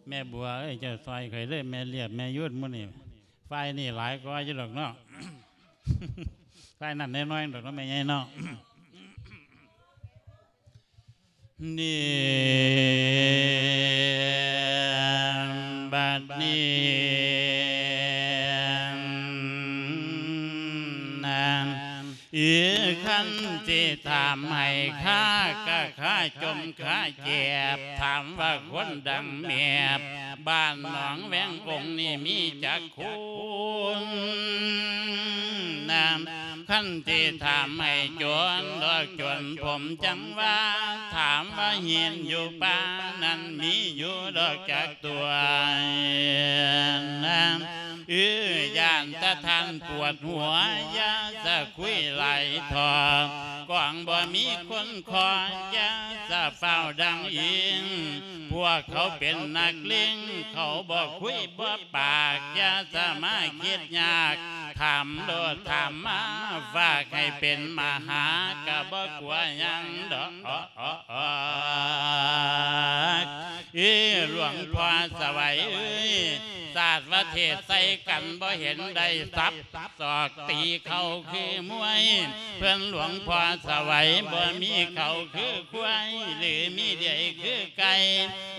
ແມ່ບົວເອີຍ ເຈົ້າຊ່ອຍຂ້ອຍເດີ້ ແມ່ລຽບ ແມ່ຍູດ ໝູ່ນີ້ ຝ່າຍນີ້ຫຼາຍກວ່າຢູ່ດອກເນາະ ຝ່າຍນັ້ນນ້ອຍໆດອກເນາະ ແມ່ໃຫຍ່ເນາະ. ນີ້ ບັດນີ້ນະ ອີ ຄັນຊິຖາມໃຫ້ຂ້າ ກະຂ້າຈົ່ມຂ້າເຈັບ ຖາມວ່າຄົນດັງແມບ ບ້ານໜອງແວງອົງນີ້ມີຈັກຄົນນະ? ຄັນຊິຖາມໃຫ້ຈົນດອກຈົນ ຜົມຈັ່ງວ່າ ຖາມວ່າຫີນຢູ່ປ່ານັ້ນມີຢູ່ດອກຈັກຕົວນະ? ເອີ ຢ້ານແຕ່ທ່ານປວດຫົວ ຢ່າສະຄຸຍຫຼາຍທໍ່ ກອງບໍ່ມີຄົນຂໍ ຢ່າສະຟ້າວດັງອີງ ພວກເຂົາເປັນນັກເລງ ເຂົາບໍ່ຄຸຍບໍ່ປາກ ຢ່າສະມາຄິດຍາກ ຖາມໂລດຖາມມາ ຝາກໃຫ້ເປັນມະຫາ ກະບໍ່ກົວຫຍັງດອກ. ເອີ ຫຼວງພໍ່ສະໄຫວເອີຍ ສາດວ່າເທດໃສ່ກັນ ບໍ່ເຫັນໄດ້ສັບສອກຕີເຂົ້າຄືມວຍ ເພິ່ນຫຼວງພໍ່ສະໄຫວ ບໍ່ມີເຂົ້າຄືຄວາຍ ຫຼືມີເດຍຄືໄກ່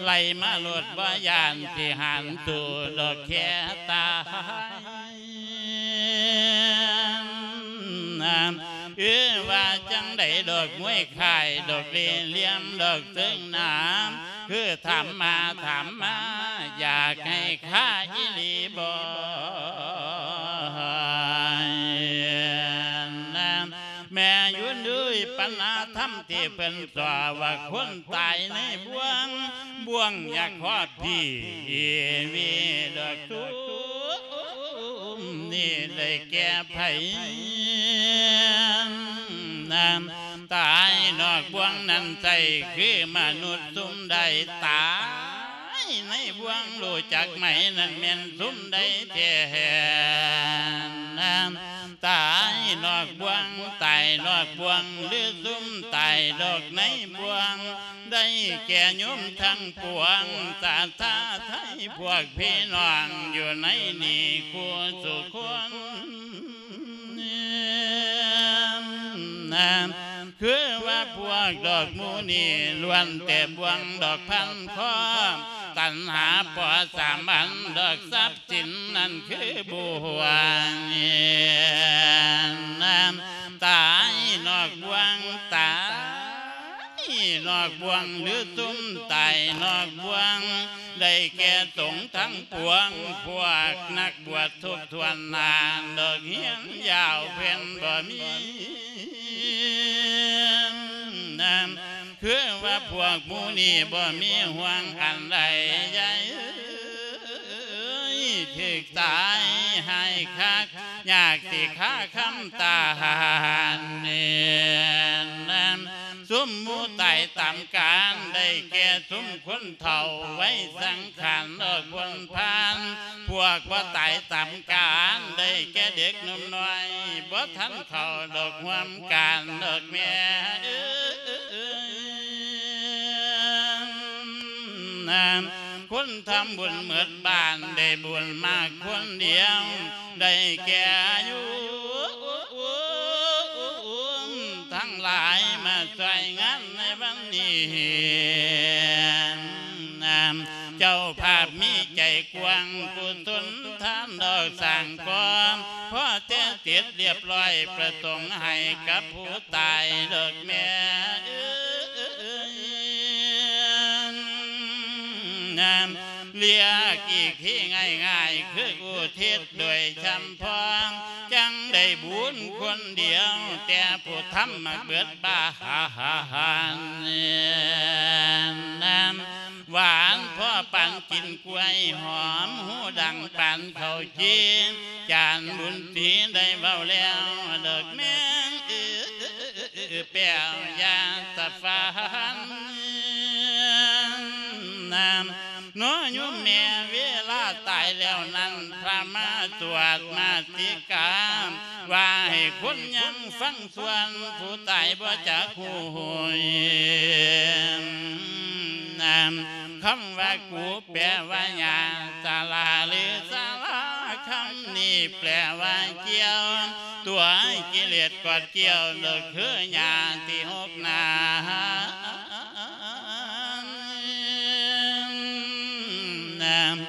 ໄລ່ມາໂລດ ບໍ່ຢ້ານຊິຫານສູ້ດອກແຄ່ຕາຍ. ເອີ ວ່າຈັ່ງໃດດອກມວຍຄ້າຍ ດອກເລ່ຫຼ່ຽມ ດອກເຊິ່ງໜາມ ຄືຖາມມາ ຖາມມາ ຢາກໃຫ້ຂ້າອີ່ຫຼີບໍ? ແມ່ຍູນເອີຍ ປັນນາທຳທີ່ເພິ່ນສອນວ່າ ຄົນຕາຍໃນບ່ວງ ບ່ວງຢາກຮອດພີ່ວີດອກທຸກ ນີ້ໄດ້ແກ່ໃຜນະ? ຕາຍນອກບ່ວງນັ້ນໃຊ່ຄືມະນຸດຊຸມໃດ? ຕາຍໃນບ່ວງຮູ້ຈັກໄໝ? ນັ້ນແມ່ນຊຸມໃດແທ້ນະ? ຕາຍນອກບ່ວງ ຕາຍນອກບ່ວງ ຫຼືຊຸມຕາຍດອກໃນບ່ວງ ໄດ້ແກ່ໂຍມທັງປວງ ສາທາໄທພວກພີ່ນ້ອງຢູ່ໃນນີ້ຄູ່ສູ່ຄົນ. ຄືວ່າພວກດອກໝູ່ນີ້ ລ້ວນແຕ່ບ່ວງດອກພັນຄອ ຕັນຫາປໍສາມັນ ດອກຊັບສິນນັ້ນຄືບ່ວງ ຕາຍນອກບ່ວງ ຕາຍນອກບ່ວງ ຫຼືຊຸມຕາຍນອກບ່ວງ ໄດ້ແກ່ສົງທັງປວງ ພວກນັກບວດທຸກຖ້ວນໜ້າ ດອກຮຽນຍາວເພິ່ນບໍ່ມີ ຄືວ່າພວກໝູ່ນີ້ບໍ່ມີຫ່ວງອັນໃດໃຫຍ່ ຖືກຕາຍຮ້າຍຄັກ ຍາກຊິຄາຄຳຕານ ຊຸມໝູ່ຕາຍຕາມການ ໄດ້ແກ່ຊຸມຄົນເຖົ້າໄວສັງຂານ ດອກພົ້ນຜ່ານ ພວກບໍ່ຕາຍຕາມການ ໄດ້ແກ່ເດັກໜຸ່ມນ້ອຍ ບໍ່ທັນເຂົ້າດອກຮ່ວມການ ດອກແມ່ເອີຍ ຄົນທຳບຸນໝົດບ້ານ ໄດ້ບຸນມາຄົນດຽວ ໄດ້ແກ່ອາຍຸ ທັງຫຼາຍມາຊ່ວຍງານໃນວັນນີ້ ເຈົ້າພາບມີໃຈກວ້າງ ກຸສົນທານດອກສ້າງກອງ ພໍແຕ່ເສັດລຽບຮ້ອຍ ປະສົງໃຫ້ກັບຜູ້ຕາຍ ດອກແມ່ເອີຍ ລຽກອີກທີ່ງ່າຍໆ ຄືອຸທິດໂດຍຊ່ຳພອງ ຈັ່ງໄດ້ບຸນຄົນດຽວ ແຕ່ຜູ້ທຳມາເບິດບານ ຫວານພໍປານກິນກ້ວຍ ຫອມຫູດັງປານເຂົ້າຈີ່ ຈານບຸນສີໄດ້ເວົ້າແລ້ວ ດອກແມ່ງເອີ ແປ້ວຢ່າສະຝັນ ນ້ອຍໂຍມແມ່ ເວລາຕາຍແລ້ວນັ້ນ ພະມາສວດມາຕິກາ ວ່າໃຫ້ຄົນຍັງຟັງສ່ວນ ຜູ້ຕາຍບໍ່ຈັກຮູ້ຫູຍ ຄຳວ່າກູ ແປວ່າຫຍ້າ ສະຫຼາ ຫຼື ສະຫຼາ ຄຳນີ້ແປວ່າກ່ຽວ ຕົວະກິເລດກອດກ່ຽວ ດອກຄືຫຍ້າທີ່ຫົກໜາມ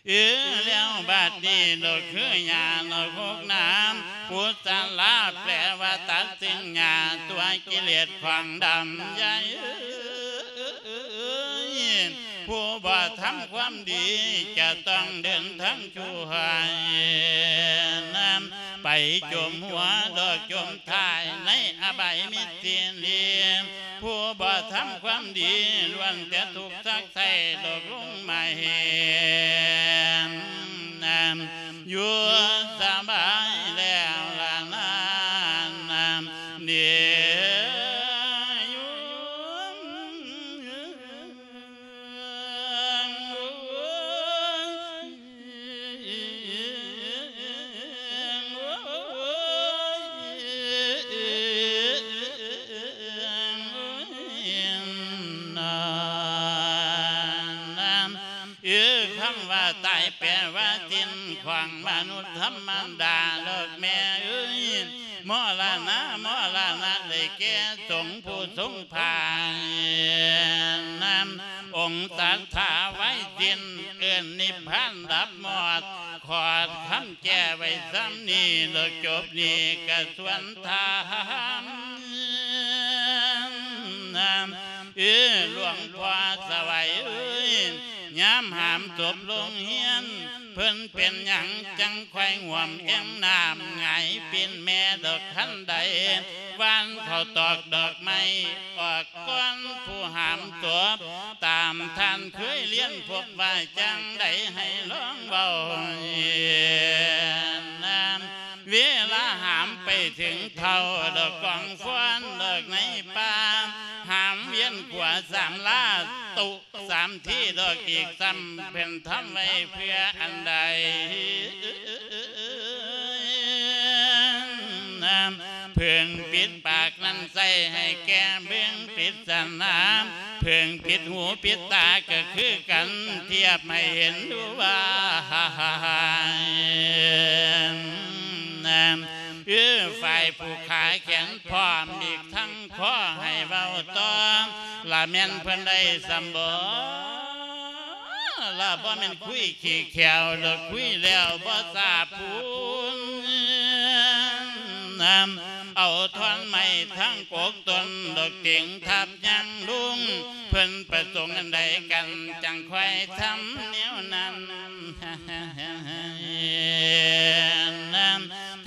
ເອີ ແລ້ວບາດນີ້ດອກຄືຫຍ້າດອກຫົກໜາມ ກຸສະລາ ແປວ່າຕັດສິ່ງຫຍ້າ ຕົວະກິເລດຂວາງດຳໃຫຍ່ ຜູ້ບໍ່ທຳຄວາມດີ ຈະຕ້ອງເດີນທາງຊົ່ວ ໄປຈົມຫົວດອກຈົມທ້າຍ ໃນອະບາຍມິດຕິລີ ຜູ້ບໍ່ທຳຄວາມດີ ລ້ວນແຕ່ທຸກສັກໃສ່ ດອກລົງມາເຫັນ ຢູ່ສະບາຍແລ້ວລະນານ ເດ ເອີ ຄຳວ່າຕາຍແປວ່າສິ້ນຂອງມະນຸດທຳມະດາ ດອກແມ່ເອີຍ ມໍລະນະ ມໍລະນະ ໄດ້ແກ່ສົງຜູ້ຊົງພາຍ ອົງສັດທາໄວສິ້ນ ເອີ້ນນິບພານດັບໝອດ ຂອດຄຳແກ້ໄວ້ສ່ຳນີ້ ແລ້ວຈົບນີ້ກະຊວນຖາມ ເອີ ຫຼວງພໍ່ສະໄຫວເອີຍ ຍາມຫາມສົບໂລງຮຽນ ເພິ່ນເປັນຫຍັງຈັ່ງຄ່ອຍຫວມແອ່ງນ້ຳ ຫງາຍປິ່ນແມ່ດອກຄັນໃດ ຫວ່ານເຂົ້າຕອກດອກໄມ້ ອອກກ່ອນຜູ້ຫາມສົບ ຕາມທ່ານເຄີຍລຽນພົບວ່າຈັ່ງໃດໃຫ້ລອງເວົ້າ ເວລາຫາມໄປເຖິງເຖົ້າ ດອກກອງຟອນດອກໃນປ່າ ຫາມວຽນຂົວສາມລາ ຕຸສາມທີດອກອີກຊ້ຳ ເພິ່ນທຳໄວ້ເພື່ອອັນໃດ ເພິ່ງປິດປາກນັ້ນໃສ່ໃຫ້ແກ່ເບິ່ງປິດສະໜາມ ເພິ່ງປິດຫູປິດຕາກະຄືກັນ ທຽບໃຫ້ເຫັນດູວ່າ เออ ฝ่ายผูกขาแขนพร้อม อีกทั้งขอให้เว้าต่อ ละแม่นเพิ่นได้สำบ่ ละบ่แม่นคุยขี้แขวดอก คุยแล้วบ่ทราบพูน เอาท่อนไม้ทั้งกกต้นดอก เต็งทับยังลุง เพิ่นประสงค์อันใดกัน จั่งค่อยทำแนวนั้น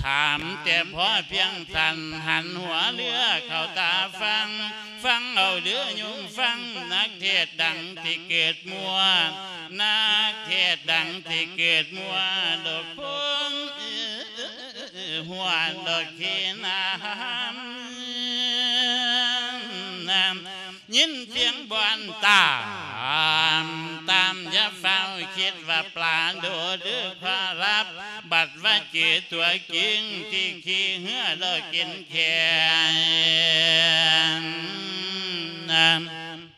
ถามแต่พอเพียงสั้น หันหัวเรือเข้าตาฟัง ฟังเอาเด้อโยมฟัง นักเทศน์ดังที่เกิดมั่ว นักเทศน์ดังที่เกิดมั่ว ดอกโพน หัวดอกขี้น้ำ น้ำ ยินเสียงบอนตาม ตาม อย่าฟ้าวคิดว่าปลาโดดหรือขอรับ บัดว่าเจอตัวจริงที่ขี่เฮือดอกกินแขน น้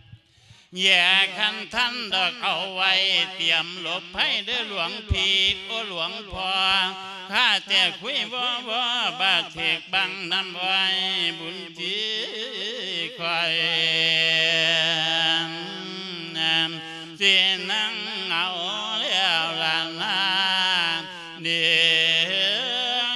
ำ แย่คันทันดอกเอาไว้ เตรียมหลบภัยเด้อหลวงพี่ โอ้หลวงพ่อ ข้าแต่คุยวอวอบาดเทกบังนำไว้ บุญที่คอย สินั่งเอาแล้วล่ะนา เดียว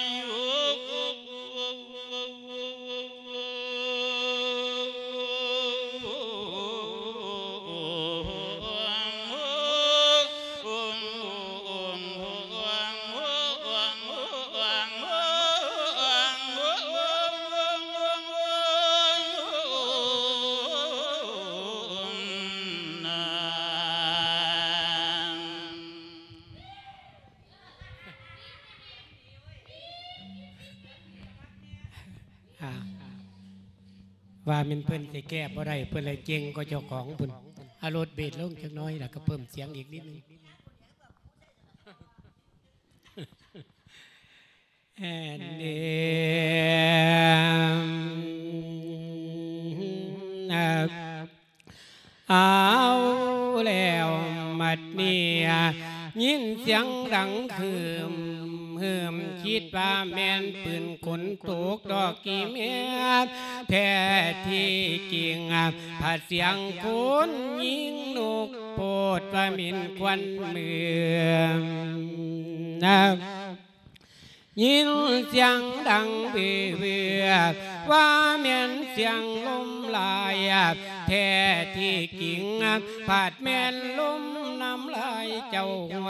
อ่า ว่าแม่นเพิ่นสิแก้บ่ได้ เพิ่นเลยเจ๋งกว่าเจ้าของพุ้น เอาโลดเบสลงจักหน่อย แล้วก็เพิ่มเสียงอีกนิดนึง แอนเดม เอาแล้วบัดนี้ ยินเสียงดังฮึมฮึม คิดว่าแม่นปืนคนตกดอกอีแม่ แท้ที่จริง ผัดเสียงคนยิงนก โพดว่าแม่นควันเมือง ยินเสียงดังเวอๆ ว่าแม่นเสียงลมหลาย แท้ที่จริง ผัดแม่นลมน้ำลายเจ้าหัว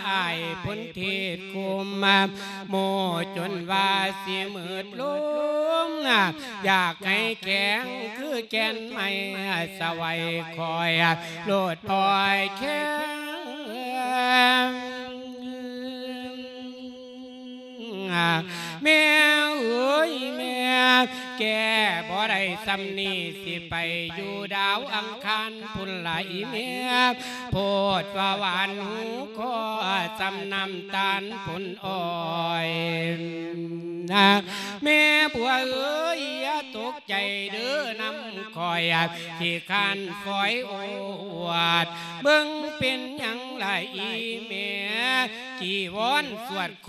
อ้ายพลเทศคม โมจนว่าสิมืดลง อยากให้แข็งคือแก่นไม้สวัยคอย โลดปล่อยแข็ง แม่เอ๋ยแม่ แก้บ่ได้ส่ำนี้ สิไปอยู่ดาวอังคารพุ้นละอีแม่ โพดว่าหวานหูคอส่ำน้ำตาลผลอ้อย แม่บัวเอ๋ย อย่าตกใจเด้อน้ำข้อย ขี้คร้านฝอยโอวาท เบิ่งเป็นหยังล่ะอีแม่ จีวรสวดโค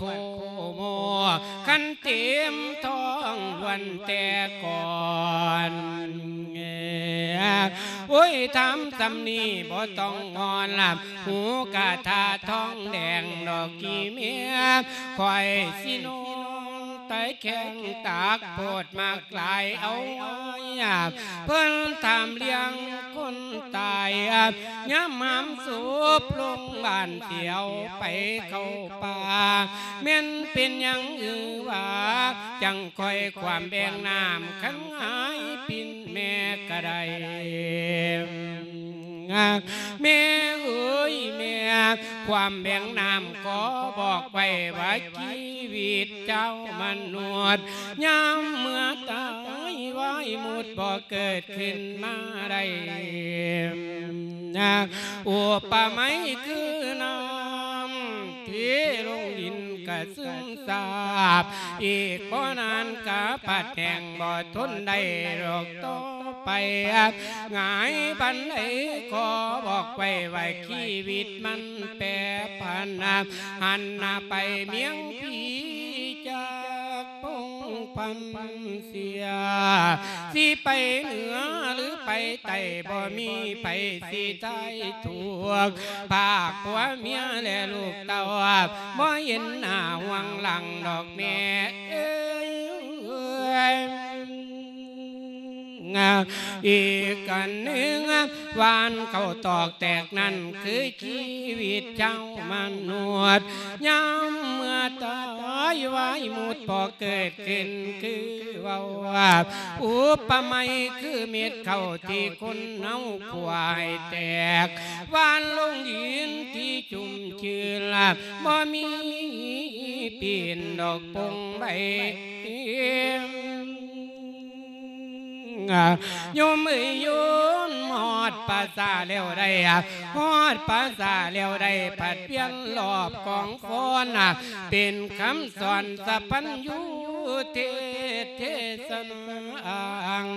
โม คันเต็มท้องล้วนแต่ก่อน โอ้ย ถามส่ำนี้บ่ต้องงอน หูกะทาทองแดงดอกอีแม่ ข้อยสินอนตายแข้งตากโพดมากหลายเอาไว้ เพิ่นถามเรื่องคนตาย ยามหามศพลงบ้านสิเอาไปเข้าป่า แม่นเป็นหยังอือว่า จั่งค่อยความแบ่งน้ำ คันหายปิ่นแม่ก็ได้ แม่เอ๋ยแม่ ความแบ่งน้ำขอบอกไว้ว่า ชีวิตเจ้ามนุษย์ ยามเมื่อตาย วายหมดบ่เกิดขึ้นมาได้ อุปไมยคือน้ำเทลงดินกะซึมซาบ อีกบ่นานกะพัดแห้งบ่ทนได้ดอกต่อไป หงายปานใดขอบอกไว้ว่า ชีวิตมันแปรผัน หันหน้าไปเมียงพีจากพง ພັນເສຍ ຊິໄປເໜືອຫຼືໄປໃຕ້ ບໍ່ມີໃຜຊິໄດ້ທຸກ ພາກຜົວເມຍ ແລະ ລູກເຕົ້າ ບໍ່ເຫັນໜ້າຫວງຫຼັງດອກແມ່ເອີຍ. ອີກອັນໜຶ່ງ ຫວ່ານເຂົ້າຕອກແຕກນັ້ນ ຄືຊີວິດຊາວມະນຸດ ຍາມເມື່ອຕາຍວາຍໝົດ ພໍເກີດຂຶ້ນຄືເວົ້າ ອຸປະໄມຄືເມັດເຂົ້າທີ່ຄົນເຮົາຂົ້ວໃຫ້ແຕກ ຫວ່ານລົງດິນທີ່ຊຸ່ມຊື່ນ ບໍ່ມີປິ່ນດອກປົງໃບ. ໂຍມເອີຍໂຍມ ຮອດປ່າຊ້າແລ້ວໄດ້ ຮອດປ່າຊ້າແລ້ວໄດ້ ຜັດວຽນລອບກອງຟອນ ເປັນຄຳສອນສະພັນຍູເທດເທສ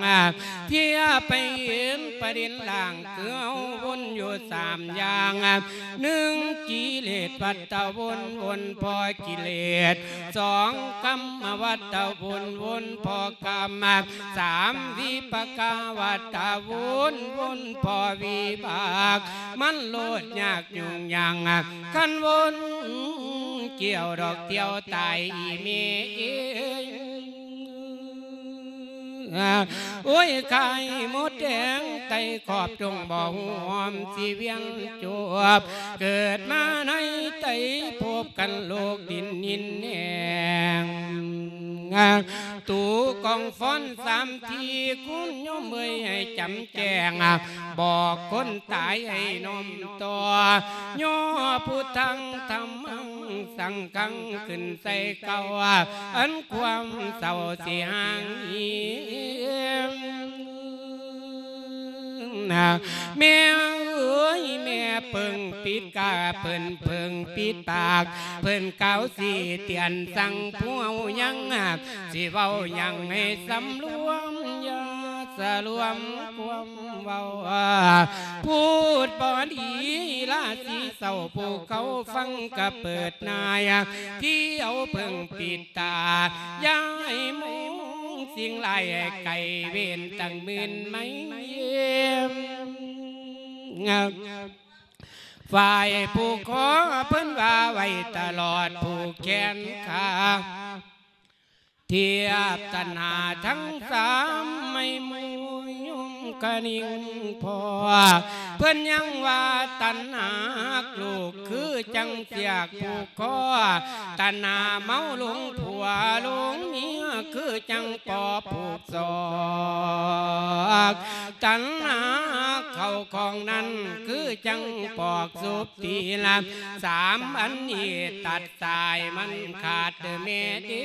ນາ ເພື່ອໄປເຫັນປະເດັນລ່າງ ຄືເຮົາວົນຢູ່ສາມຢ່າງ ໜຶ່ງ ກິເລດວັດຕະວົນ ວົນພໍກິເລດ ສອງ ກຳມະວັດຕະວົນ ວົນພໍກຳ ສາມ ວິປາກະວັດຕະວົນ ວົນພໍວິບາກ ມັນໂລດຍາກຫຍຸ້ງຍາງ ຄັນວົນກ່ຽວດອກທ່ຽວຕາຍອີ່ແມ່ເອີຍ. ໂອ້ຍ ໄຂ່ມົດແດງໄຕ່ຂອບ ຈົ່ງບໍ່ຫວມຊິວຽນຈົບ ເກີດມາໃນໄຕພົບກັນໂລກດິນຫີນແຫ້ງ ຕູກອງຟອນສາມທີ່ ຄຸນໂຍມເອີຍໃຫ້ຈຳແຈ້ງ ບອກຄົນຕາຍໃຫ້ນ້ອມຕໍ່ ຍໍພຸດທັງທຳມັງສັງຄັງ ຂຶ້ນໃສ່ເກົ້າ ອັນຄວາມເສົ້າຊິຫ່າງຫີມ. ແມ່ເອີຍ ແມ່ເພິ່ງປິດກາ ເພິ່ນເພິ່ງປິດປາກ ເພິ່ນກ່າວຊີ້ເຕືອນສັ່ງພວກເຮົາຍັງ ຊິເວົ້າຫຍັງໃຫ້ສຳລວມ ຢ່າສະຫຼວມຄວາມເວົ້າ ພູດບໍ່ດີລາສີເສົ້າ ຜູ້ເຂົາຟັງກະເປີດໜ້າຍ ທີ່ເອົາເພິ່ງປິດຕາ ຢ່າໃຫ້ມອງສິ່ງຮ້າຍ ໃຫ້ໄກເວນຕັ້ງໝື່ນໄມ. ຝ່າຍຜູ້ຂໍເພິ່ນວ່າໄວ້ຕະຫຼອດຜູກແຂນຂາ ທຽບຕັນຫາທັງສາມ ໄມ້ໝູຍຍົມກະນິງພໍ່ ເພິ່ນຍັງວ່າຕັນຫາຮັກລູກ ຄືຈັ່ງສຽກຜູກຄໍ ຕັນຫາເມົາຫຼົງຜົວຫຼົງເມຍ ຄືຈັ່ງປໍຜູກສອກ ຕັນຫາເຂົ້າຂອງນັ້ນ ຄືຈັ່ງປອກສົບຕີນ ສາມອັນນີ້ຕັດສາຍມັນຂາດເດີແມ່ເດີ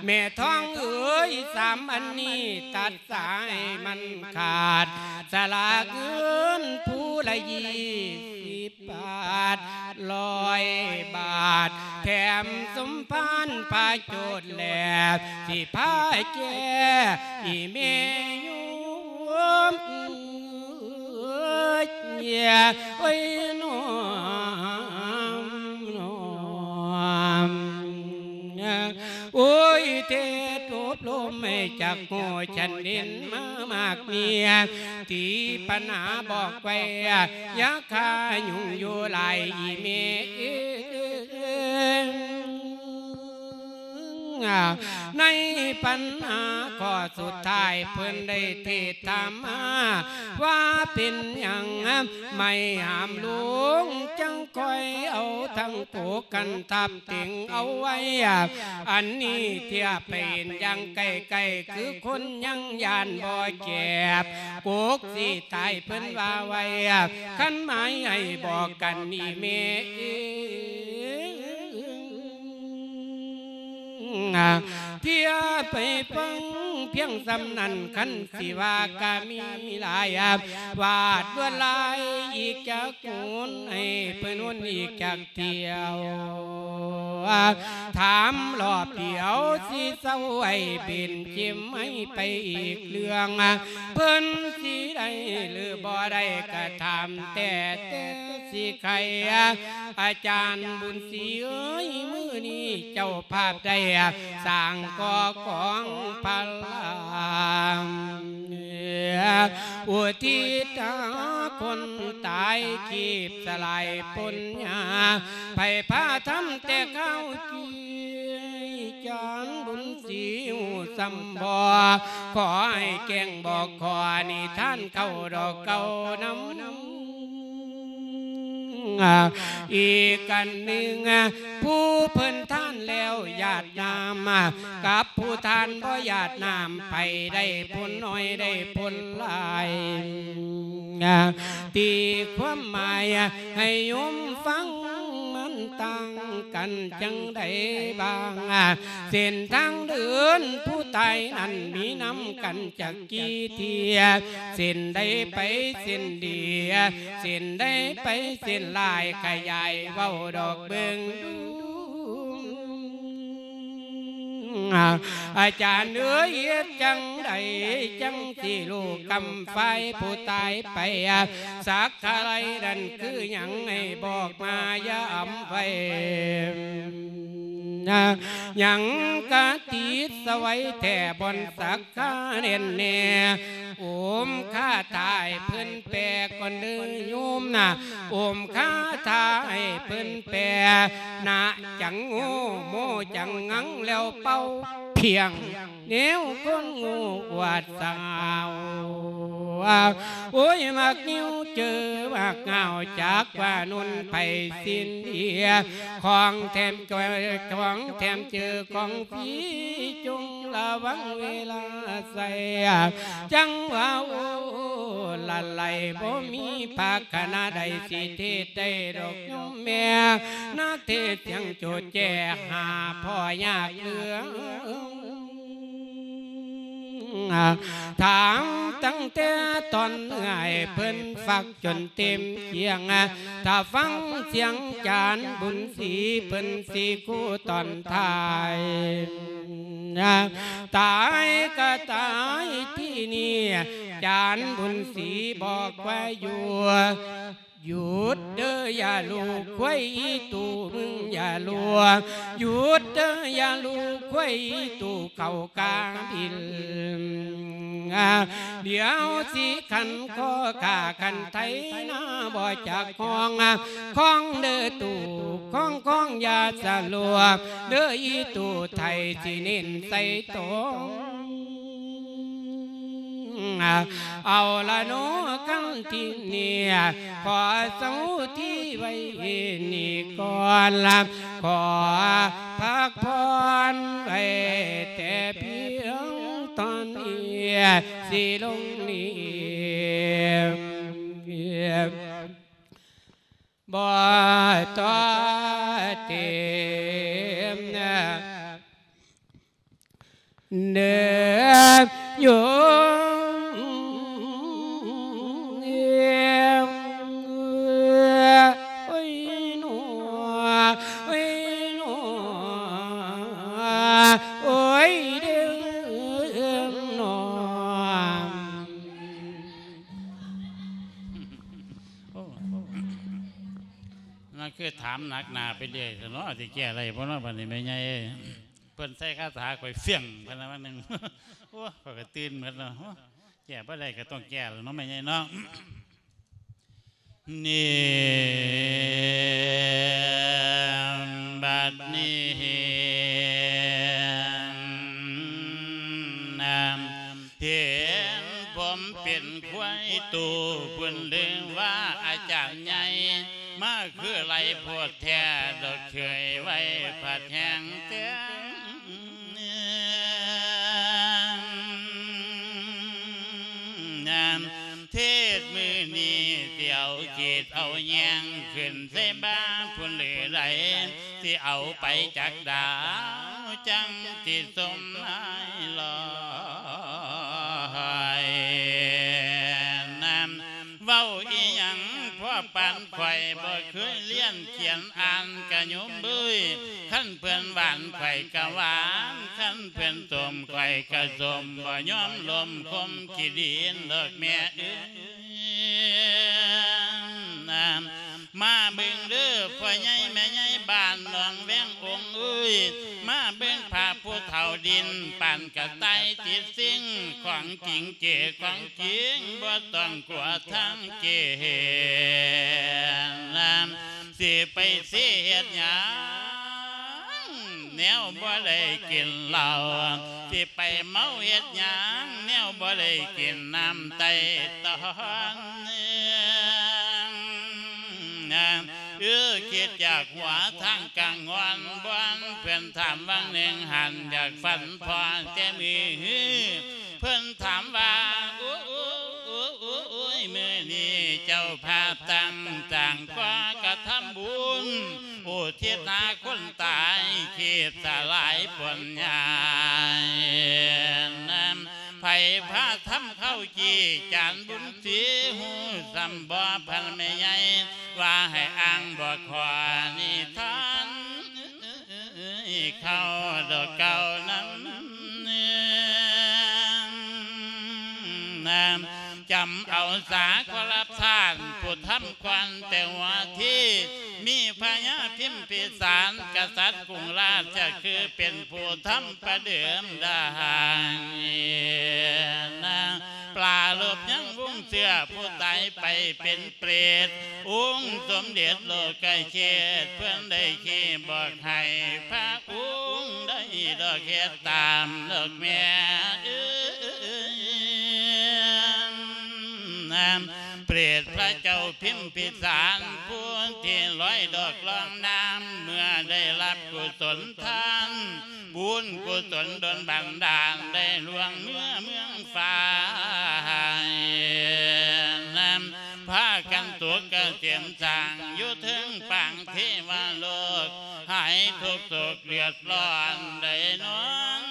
ແມ່ທອງເອີຍ ສາມອັນນີ້ຕັດສາຍມັນຂາດ ສະຫຼາກເງິນຜູ້ລະຍີ່ສິບບາດ ຮ້ອຍບາດ ແຖມສົມພານພາໂຈດແລ ຊິພາແກ່ອີ່ແມ່ໂຍມ ໂອ້ຍ ໂອ້ຍ ເທດອົບຮົມໃຫ້ຈັກຮູ້ຊັ້ນເດັ່ນມາມາກເມຍ ທີ່ປັນຫາບອກໄວ້ ຢ່າຂ້າຫຍຸ້ງຢູ່ຫຼາຍອີ່ແມ່ເອີຍ. ໃນບັນຫາຂໍ້ສຸດທ້າຍ ເພິ່ນໄດ້ເທດຖາມມາວ່າເປັນຫຍັງ ໄມ້ຫາມຫຼວງຈັ່ງຄ່ອຍເອົາທັງໂກກັນທັບເຕັງເອົາໄວ້ ອັນນີ້ທຽບໃຫ້ເຫັນຢ່າງໃກ້ໆ ຄືຄົນຍັງຢ້ານບໍ່ແຈບ ກົກຊິຕາຍເພິ່ນວ່າໄວ້ ຄັນໝາຍໃຫ້ບອກກັນນີ້ແມ່ເອີຍ ທຽບໄປຟັງ ພຽງສ່ຳນັ້ນ ຄັນຊິວ່າກະມີຫຼາຍ ວາດລວດລາຍອີກຈັກຫົນ ໃຫ້ເພິ່ນຫົນອີກຈັກ ທ່ຽວ ຖາມລອບດຽວຊິເຊົາ ໃຫ້ເປັນເຂັມໃຫ້ໄປອີກເລື່ອງ ເພິ່ນຊິໄດ້ຫຼືບໍ່ໄດ້ກະຖາມແຕ່ ແຕ່ຊິໄຂ ອາຈານບຸນສີເອີຍ ມື້ນີ້ເຈົ້າພາບໄດ້ສ້າງກໍ່ກອງພະລາ ອຸທິດຫາຄົນຕາຍ ຄີບສະຫຼາຍປົນຍາ ໃຜພາທຳແຕ່ຄາວກີ້ ຈານບຸນສີຮູ້ສ່ຳບໍ່ ຂໍໃຫ້ແຈ້ງບອກ ຂໍນິທານເກົ້າດອກເກົ້ານຳ ອີກອັນໜຶ່ງ ຜູ້ເພິ່ນທານແລ້ວຢາດນ້ຳ ກັບຜູ້ທານບໍ່ຢາດນ້ຳ ໃຜໄດ້ຜົນໜ້ອຍໄດ້ຜົນຫຼາຍ ຕີຄວາມໝາຍໃຫ້ໂຍມຟັງ ມັນຕ່າງກັນຈັ່ງໃດບ້າງ ເສັ້ນທາງເດີນຜູ້ຕາຍນັ້ນ ມີນຳກັນຈັກ ກີ່ເທື່ອ ເສັ້ນໃດໄປເສັ້ນດີ ເສັ້ນໃດໄປເສັ້ນຫຼາຍ ຂະຫຍາຍເວົ້າດອກເບິ່ງດູ ອາຈານເອີຍ ເຮັດຈັ່ງໃດຈັ່ງຊິຮູ້ກຳຝ່າຍຜູ້ຕາຍໄປ ສັກກະໄລນັ້ນຄືຫຍັງ ໃຫ້ບອກມາຢ້ຳໄວ້ ຍັງກະຕິດສະໄຫວແທ້ບ່ອນສັກ ກະແໜ້ນແນ່ ໂອມຄາຖາໃຫ້ເພິ່ນແປກ່ອນເດີໂຍມນະ ໂອມຄາຖາໃຫ້ເພິ່ນແປ ນະຈັງໂງ ໂມຈັງງັງ ແລ້ວເປົ່າພຽງ ແນວຄົນໂງ່ອວດສາວ ໂອ້ຍ ໝາກງິ້ວເຈີໝາກງາວ ຈັກວ່ານຸນໄພສິນເດຍ ຂອງແຖມ ຂອງແຖມເຈີຂອງຟຣີ ຈົ່ງລະວັງເວລາໃຊ້ ຈັງວ່າໂອ້ລະໄລ ບໍ່ມີພາຄະນະໃດ ຊິເທດໄດ້ດອກໂຍມແມ່ ນະເທດສຽງໂຈແຈຫາພໍ່ຍາກເຫຼືອ ຖາມຕັ້ງແຕ່ຕອນເມື່ອໃຫ້ເພິ່ນຟັກຈົນເຕັມຄຽງ ຖ້າຟັງສຽງຈານບຸນສີ ເພິ່ນຊິຄູ່ຕອນທ້າຍ ຕາຍກະຕາຍທີ່ນີ້ ຈານບຸນສີບອກວ່າຢູ່ ຢຸດເດີຢ່າລູກຄວາຍອີຕູ ມຶງຢ່າລົວ ຢຸດເດີຢ່າລູກຄວາຍອີຕູ ເຂົ້າກາບິນ ດຽວຊິຂັນຄໍຂ້າຂັນໄຖນາ ບໍ່ຈັກຮ້ອງ ຄອງເດີຕູ ຄອງ ຄອງຢ່າສະຫຼວມ ເດີອີຕູໄຖຊິເນັ້ນໃສ່ໂຕ ເອົາລະເນາະ ຄັນທີນີ້ ຂໍເຊົາທີ່ໄວ້ນີ້ກ່ອນລະ ຂໍພັກຜ່ອນໄວ້ແຕ່ພຽງເທົ່ານີ້ ຊິລົງນີ້ ບໍ່ຕໍ່ເຕັມ ເດີໂຍມ ໂອ້ຍໜໍ ໂອ້ຍໜໍ ໂອ້ຍເດີໜໍ. ໂອ້ ນັ້ນຄືຖາມໜັກໜາໄປເລື້ອຍຊັ້ນເນາະ ຊິແກ້ໄດ້ບໍ່ເນາະ ບັດນີ້ແມ່ໃຫຍ່ເອີຍ. ເພິ່ນໃສ່ຄາຖາຂ້ອຍຟຽງ ເພິ່ນວ່າໜຶ່ງ ໂອ້ ຂ້ອຍກໍຕື່ນໝົດເນາະ ໂອ້ ແກ້ບໍ່ໄດ້ກໍຕ້ອງແກ້ແລ້ວເນາະ ແມ່ໃຫຍ່ເນາະ. ນີ້ ບັດນີ້ ເຫັນຜົມເປັນຄວາຍຕູ້ ເພິ່ນລືມວ່າອາຈານໃຫຍ່ ມາຄືໄຫຼໂພດແທ້ ດອກເຄີຍໄວ້ຜັດແຮງແຕ່ງ ຍາມເທດມື້ນີ້ ຊິເອົາຂີດເອົາແຍງ ຂຶ້ນໃສ່ບ່າພຸ້ນຫຼືໃດ ຊິເອົາໄປຈັກດາວ ຈັ່ງຊິສົມນາຍຫຼອ ປານຂ້ອຍບໍ່ເຄີຍລຽນຂຽນອ່ານກະໂຍມເອີຍ, ຄັນເພິ່ນຫວານຂ້ອຍກະຫວານ, ຄັນເພິ່ນສົ້ມຂ້ອຍກະສົ້ມ, ບໍ່ຍອມລົ້ມຄົມຂີ້ດິນດອກແມ່ເອີຍ. ມາເບິ່ງເດີພໍ່ໃຫຍ່ແມ່ໃຫຍ່ບ້ານໜອງແວງອົງເອີຍ, ມາເບິ່ງພະຜູ້ເຖົ້າດິນປານກະຕ່າຍຕິດສິງ, ຂອງຈິງເຈຂອງຈິງ ບໍ່ຕ້ອງກົວທາງເກ. ຊິໄປເສເຮັດຫຍັງ ແນວບໍ່ໄດ້ກິນເຫຼົ້າ, ຊິໄປເມົາເຮັດຫຍັງ ແນວບໍ່ໄດ້ກິນນ້ຳໄຕ່ຕອງ. ເອີ ຄິດຢາກຫົວທາງກາງງອນ ບ່ອນເພິ່ນຖາມຫວ່າງໜຶ່ງຫັ້ນ ຢາກຝັນພໍແຕ່ມື້ ເພິ່ນຖາມວ່າ ໂອ້ຍ ມື້ນີ້ເຈົ້າພາຕັ້ງສ້າງກໍ່ກະທຳບຸນ ອຸທິດຫາຄົນຕາຍ ຄີບສະຫຼາຍຜົນຍານນຳ ໃຜພາທຳເຂົ້າຈີ່ ຈານບຸນສີ ຮູ້ສ່ຳບໍ່ພັນແມ່ໃຫຍ່ ວ່າໃຫ້ອ່າງບອກຂໍ້ນິທານ ເຂົ້າດອກເກົ່ານັ້ນ ນຳ ຈຳເອົາສາຂໍລາບທ່ານ ຜູ້ທຳກ່ອນແຕ່ຫົວທີ ມີພະຍາພິມພິສານ ກະສັດກຸງລາດຈະຄືເປັນຜູ້ທຳປະເດີມດາຫາງ ປາລົບຍັງວົງເຊື້ອ ຜູ້ຕາຍໄປເປັນເປດ ອົງສົມເດັດໂລກະເຂດ ເພິ່ນໄດ້ຂີ້ບອກໃຫ້ພະອົງໄດ້ດອກເຮັດຕາມດອກແມ່ເອີຍ. ເປດພະເຈົ້າພິມພິສານ ຜູ້ທີ່ລອຍດອກລອງນ້ຳ ເມື່ອໄດ້ຮັບກຸສົນທານ ບຸນກຸສົນດົນບັນດານ ໄດ້ລ່ວງເມືອເມືອງຟ້າ ພາກັນສຸກກະເສມສ້າງ ຢູ່ເທິງປາງເທວະໂລກ ຫາຍທຸກໂສກເດືອດຮ້ອນ ໄດ້ນອນ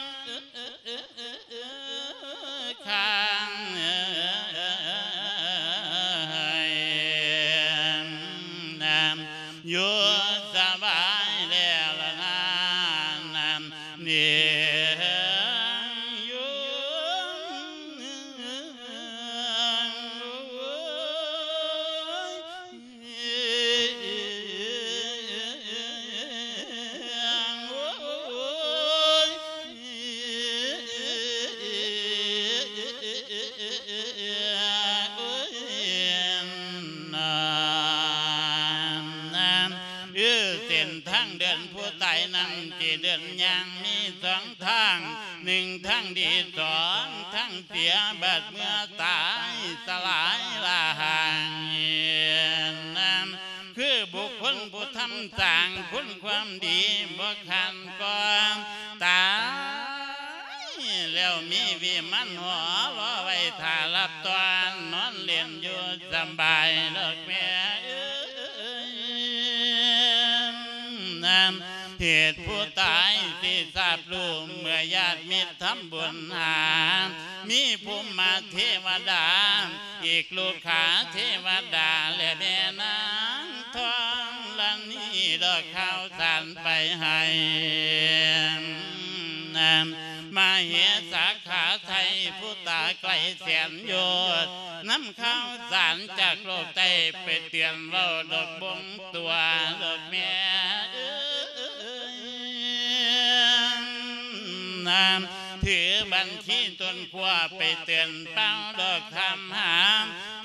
ຄ້າງຢູ່ສະບາຍແລ້ວລະນາ ນຳນີ້ຢູ່ ເອີ ເສັ້ນທາງເດີນຜູ້ຕາຍນັ້ນ ທີ່ເດີນຍ່າງມີສອງທາງ ໜຶ່ງທາງດີ ສອງທາງເສຍ ບາດເມື່ອຕາຍສະຫຼາຍລາຫາງ ນຳ ຄືບຸກຄົນຜູ້ທຳສ້າງຄຸນຄວາມດີບໍ່ຂາດກ່ອນ ຕາຍແລ້ວມີວິມານຫໍ ລໍໄວ້ຖ້າຮັບຕ້ອນ ນອນຫຼິ້ນຢູ່ສະບາຍດອກແມ່ເອີຍ. ເຫດຜູ້ຕາຍທີ່ຊາບຮູ້ ເມື່ອຍາດມິດທຳບຸນຫາ ມີພູມມະເທວະດາ ອີກລູກຂາເທວະດາ ແລະແມ່ນາງທອງລະນີ ດອກຂ່າວສານໄປໃຫ້ ມະເຫສາຂາໄທ ຜູ້ຕາໄກແສນໂຍດ ນຳຂ່າວສານຈາກໂລກໃຕ້ ໄປເຕືອນເວົ້າດອກບົງຕົວດອກແມ່ເອີຍ. ນຳ ຖືບັນຊີຕົ້ນຂົ້ວ ໄປເຕືອນເປົ່າດອກທຳຫາ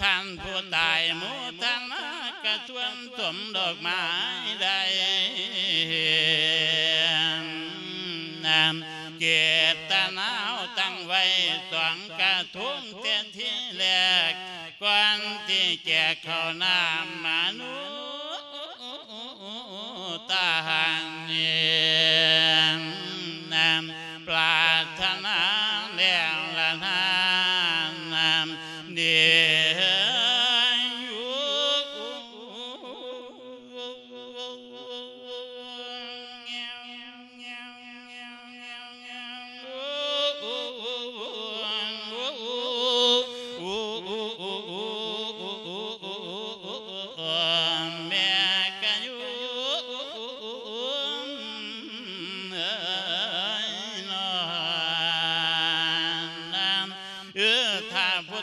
ທ່ານຜູ້ຕາຍໂມທະນາ ກະຊວນສົມດອກໄມ້ໄດ້ ນຳ ເຈດຕະນາຕັ້ງໄວ້ສອງກະທົງແຕ່ທີແລກ ກ່ອນທີ່ແຈກເຂົ້ານ້ຳມະນຸດຕາຫາງນີ້ ນຳ ປາດຖະໜາແລ້ວລະນາ ນຳ ເດ ໂອ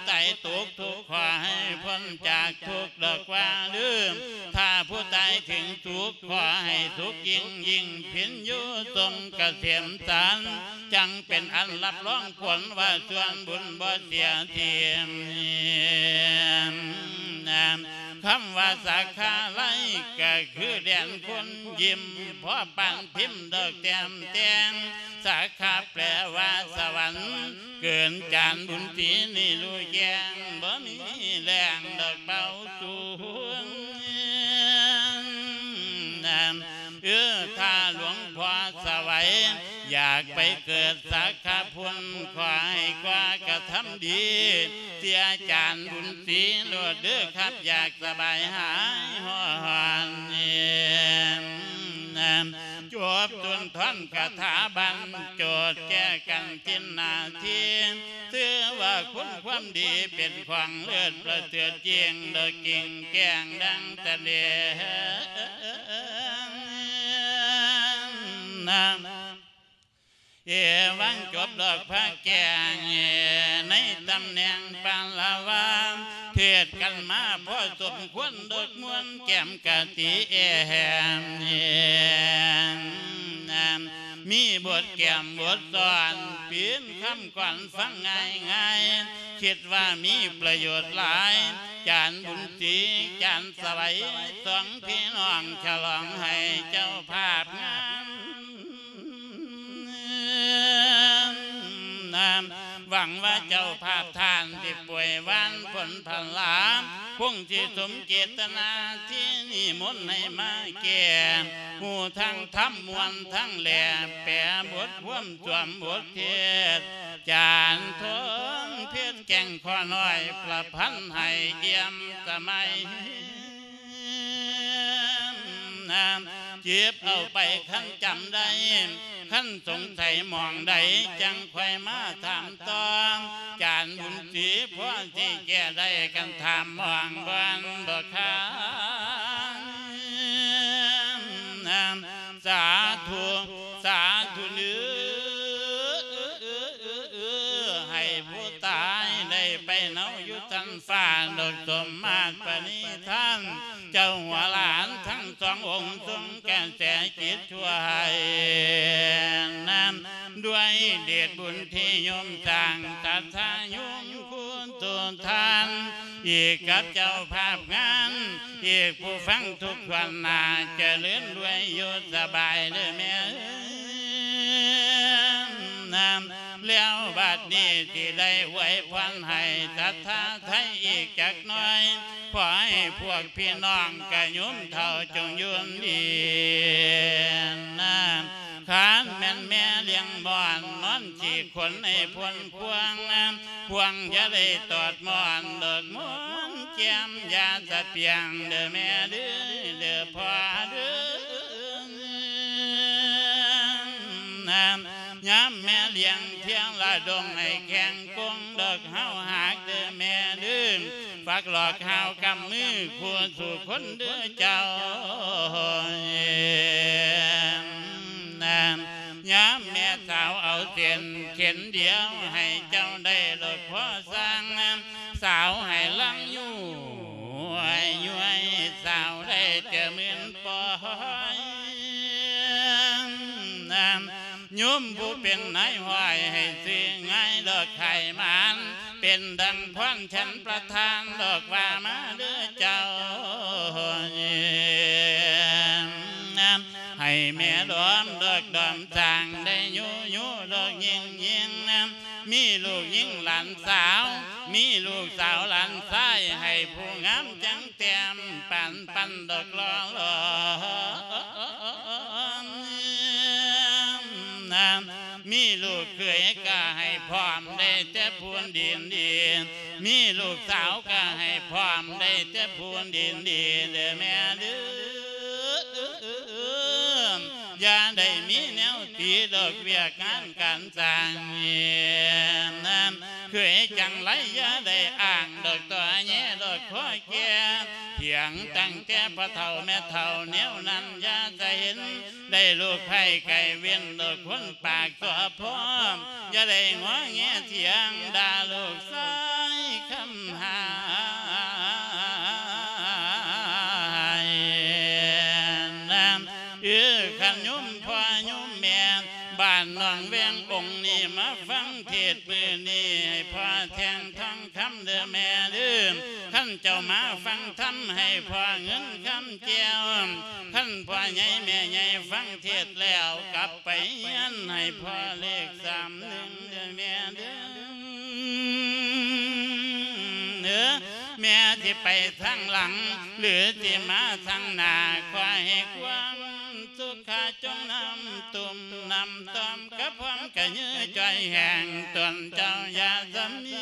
ຕາຍຕົກທຸກ ຂໍໃຫ້ພົ້ນຈາກທຸກດອກວ່າລືມ, ຖ້າຜູ້ຕາຍເຖິງສຸກ ຂໍໃຫ້ສຸກຍິ່ງໆ ພິນຢູ່ຊົງກະເສມສັນ, ຈັ່ງເປັນອັນຮັບຮອງຜົນວ່າສ່ວນບຸນບໍ່ເສຍຖິ້ມ. ຄຳວ່າສາຂາໄລ ກະຄືແດນຄົນຍິ້ມ, ພໍປານພິມດອກແຕ້ມແຕ່ງ, ສາຂາແປວ່າສະຫວັນ, ເກີນຈານບຸນສີນີ້ຮູ້ແຈ້ງ, ບໍ່ມີແລງດອກເບົາສູງ. ເອີ ຖ້າຫຼວງພໍ່ສະໄຫວ ຢາກໄປເກີດສາຂາພຸ້ນ ຂໍໃຫ້ກວ່າກະທຳດີ ເສຍຈານບຸນສີໂລດເດີຄັບ ຢາກສະບາຍຫາຍຮ້ອນ. ຈົບສຸນທອນຄາຖາບັນໂຈດ ແກ້ກັນຈິນນາທີ ຊື່ວ່າຄຸນຄວາມດີເປັນຂອງເລີດປະເສີດຍິ່ງ ດອກກິ່ງແກ້ງດັ່ງຕະເດງ. ເອວັງ ຈົບດອກພະແກ້ງ ໃນຕຳແໜ່ງປາລະວາ ເທດກັນມາພໍສົມຄວນ ດອກມ່ວນແກ້ມກະຕິແອມ ມີບົດແກ້ມບົດສອນ ປີ້ນຄຳກ່ອນຟັງງ່າຍໆ ຄິດວ່າມີປະໂຫຍດຫຼາຍ ຈານບຸນສີ ຈານສະໄຫວ ສອງພີ່ນ້ອງ ສະຫຼອງໃຫ້ເຈົ້າພາບງາມ. ຫວັງວ່າເຈົ້າພາບທ່ານ ທີ່ປ່ວຍຫວານຜົນຜະລາ ຄົງຊິສົມເຈດຕະນາ ທີ່ນິມົນໃຫ້ມາແກ່ ຮູ້ທັງທຳມ່ວນທັງແຫຼ ແປບົດຄວາມສວມບົດເທດ ຈານທອງເພັດແກ່ງຂໍນ້ອຍ ປະພັນໃຫ້ອ່ຽມສະໄໝ. ເກັບເອົາໄປຄັນຈຳໄດ້ ຄັນສົງໄສໝ່ອງໃດ ຈັ່ງຄ່ອຍມາຖາມຕໍ່ ຈານບຸນສີພໍຊິແກ້ໄດ້ ຄັນຖາມໝ່ອງບ່ອນບໍ່ຄານ. ສາທຸ ສາທຸເດີ ໃຫ້ຜູ້ຕາຍໄດ້ໄປເນົາຢູ່ຊັ້ນຟ້າ ດອກສົມມາດປະນິທານ ເຈົ້າຫົວຫຼານທັງສອງອົງ ຊົງກະແສຈິດຊ່ວຍນຳ ດ້ວຍເດດບຸນທີ່ໂຍມສ້າງ ສັດທາໂຍມຄູນ ສຸທານ ອີກກັບເຈົ້າພາບງານ ອີກຜູ້ຟັງທຸກຖ້ວນໜ້າ ຈະເລີນລວຍຢູ່ສະບາຍເດີແມ່ເອີຍ. ແລ້ວບັດນີ້ຊິໄດ້ອວຍພອນໃຫ້ສັດທາໄທອີກຈັກໜ້ອຍ ຂໍໃຫ້ພວກພີ່ນ້ອງກະໂຍມເຖົ້າຈົ່ງຢູ່ດີນາ. ຄັນແມ່ນແມ່ລ້ຽງມ່ອນ ນອນຂີ້ຂົນໃຫ້ພົ້ນພວງ ພວງຢ່າໄດ້ຕອດມ່ອນ ດອກມ່ອນແຈ່ມຢ່າສະປຽງເດີແມ່ເດີ ເດີພໍ່ເດີ. ຍາມແມ່ລ້ຽງທຽງລະດົງໃຫ້ແຂງກົງ ດອກເຮົາຫາກເດີແມ່ເດີ ຝາກຫຼອກຫາວກຳມືຄູ່ສູ່ຄົນເດີເຈົ້າ. ຍາມແມ່ສາວເອົາເສັ້ນເຂັນດຽວ ໃຫ້ເຈົ້າໄດ້ດອກພໍສ້າງ ສາວໃຫ້ລັງຢູ່ໃຫ້ຍ້ວຍ ສາວໄດ້ແຕ່ໝື່ນປອຍ. ໂຍມຜູ້ເປັນນາຍຮ້ອຍ ໃຫ້ຊື່ງ່າຍດອກຂາຍໝານ ເປັນດັ່ງພອນແຂນປະທານ ດອກວ່າມາເດີເຈົ້າ. ໃຫ້ແມ່ດອມດອກດອມສ້າງ ໄດ້ຢູ່ຢູ່ດອກຍິ່ງໆ ມີລູກຍິງຫຼານສາວ ມີລູກສາວຫຼານຊາຍ ໃຫ້ຜູ້ງາມຈັ່ງແຕ້ມ ປັນປັນດອກຫຼໍ່ຫຼອມ. ມີລູກເຂີຍກະໃຫ້ພ້ອມ ໄດ້ແຕ່ຜູ້ດີໆ ມີລູກສາວກະໃຫ້ພ້ອມ ໄດ້ແຕ່ຜູ້ດີໆ ເດີແມ່ເດີ. ຢ່າໄດ້ມີແນວຕີດອກວຽກງານການສ້າງ ເຂີຍຈັງໄລຢ່າໄດ້ອ້າງ ດອກຕໍ່ແຍດອກຂໍແກ່ ພຽງຕັ້ງແຕ່ພໍ່ເຖົ້າແມ່ເຖົ້າແນວນັ້ນ ຢ່າຈະເຫັນ ໄດ້ລູກໃພ້ໄກ່ເວັ້ນ ດອກຄົນປາກຕົວພ້ອມ ຢ່າໄດ້ງໍແງຖຽງ ດ່າລູກຊາຍຄ ຫຼວງແວງອົງນີ້ມາຟັງເທດມື້ນີ້ ໃຫ້ພໍ່ແທ່ງທອງຄຳເດີແມ່ເດີ. ຄັນເຈົ້າມາຟັງທຳໃຫ້ພໍ່ເງິນຄຳແກ້ວ, ຄັນພໍ່ໃຫຍ່ແມ່ໃຫຍ່ຟັງເທດແລ້ວ ກັບໄປເຮືອນໃຫ້ພໍ່ເລກສາມໜຶ່ງເດີແມ່ເດີ. ເອີ ແມ່ຊິໄປທາງຫຼັງ ຫຼື ຊິມາທາງໜ້າ ຂໍໃຫ້ຄວາມສຸຂະຈົ່ງນຳຕຸ້ມນຳຕ່ອມ ກະພ້ອມກະຍືຈອຍແຮງຕົນເຈົ້າຢ່າສະເໝຍ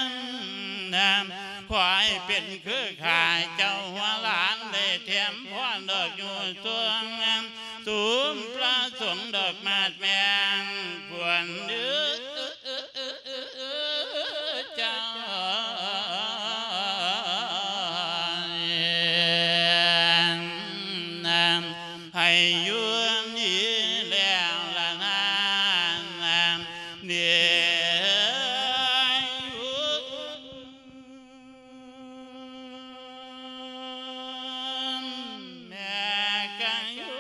ນນາມ ຂໍໃຫ້ເປັນຄືຂ້າເຈົ້າຫົວຫຼານ ໄດ້ແຖມພອນດອກຢູ່ຊ່ວງ ສຸມພະສົງດອກໝາດແມງ ຄວນເດີ ເຈົ້າ ໃຫ້ຢູ່ດີແລ້ວລະນາ ເນຍ ແມ່ກະຢູ່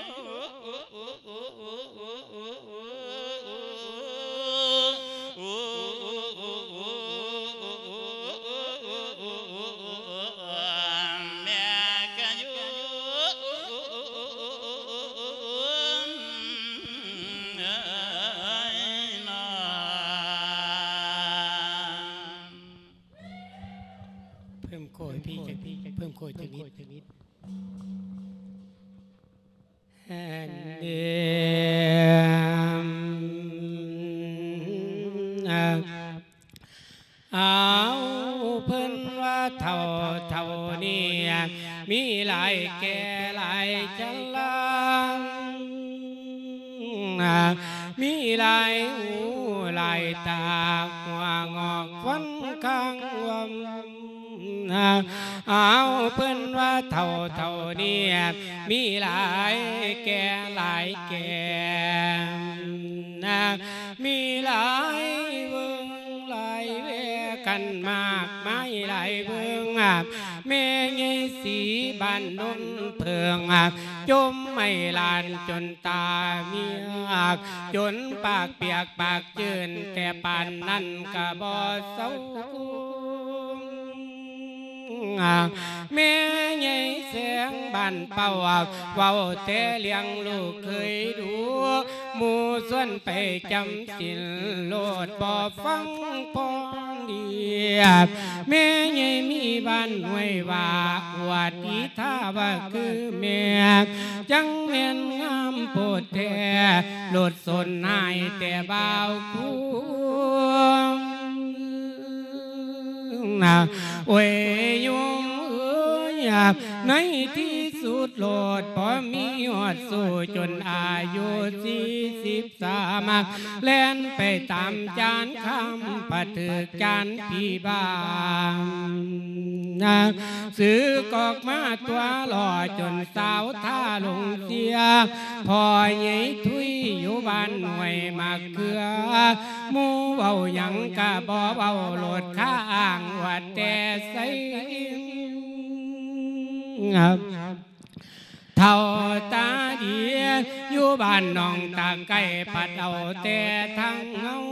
ແມ່ກະຢູ່ເນາະ. ເພີ່ມໂຄຍພີ່ຈັກ ເພີ່ມໂຄຍຈັກນິດ. ເອົາ ເພິ່ນວ່າເຖົ້າ ເຖົ້ານີ້ມີຫຼາຍແກ່ຫຼາຍຊະລາ ມີຫຼາຍຫູຫຼາຍຕາ ຫົວງອກຟັນຄາງລວມ ເອົາ ເພິ່ນວ່າເຖົ້າ ເຖົ້ານີ້ມີຫຼາຍແກ່ຫຼາຍແກ່ ມີຫຼາຍເບິ່ງຫຼາຍແວກັນມາກມາຍຫຼາຍເບິ່ງ ແມ່ໃຫຍ່ສີບ້ານໂນນເຜິ້ງ ຈົ່ມໃຫ້ຫຼານຈົນຕາເມຍກ ຈົນປາກປຽກປາກຈືນ ແຕ່ປານນັ້ນກະບໍ່ເຊົາ. ແມ່ໃຫຍ່ແສງບ້ານເປົ້າ ເວົ້າແຕ່ເລື່ອງລູກເຄີຍດູ ໝູ່ຊວນໄປຈຳສິນໂລດ ບໍ່ຟັງພອນດີ. ແມ່ໃຫຍ່ມີບ້ານຫ້ວຍວ່າ ອວດອີທ່າວ່າຄືແມ່ ຈັ່ງແມ່ນງາມໂພດແທ້ ໂລດສົນຫາຍແຕ່ບ່າວຄູ. ໂອ້ຍ ໂຍມເອີຍ ໃນທີ່ສຸດໂລດ ພໍມີຮອດສູ້ຈົນອາຍຸສີ່ສິບສາມ ແລ່ນໄປຕາມຈານຄຳ ປະຖືກຈານຜີບ້າ ສຶກອອກມາຕົວຫຼໍ່ ຈົນສາວທ່າຫຼົງເສຍ ພໍ່ໃຫຍ່ທຸຍຢູ່ບ້ານຫ້ວຍໝາກເຂືອ ໝູ່ເວົ້າຫຍັງກະບໍ່ເວົ້າໂລດ ຄາອ້າງວ່າແຕ່ໃສ ເຖົ້າຕາດີ ຢູ່ບ້ານໜອງຕາໄກ່ ພັດເອົາແຕ່ທາງເງົາ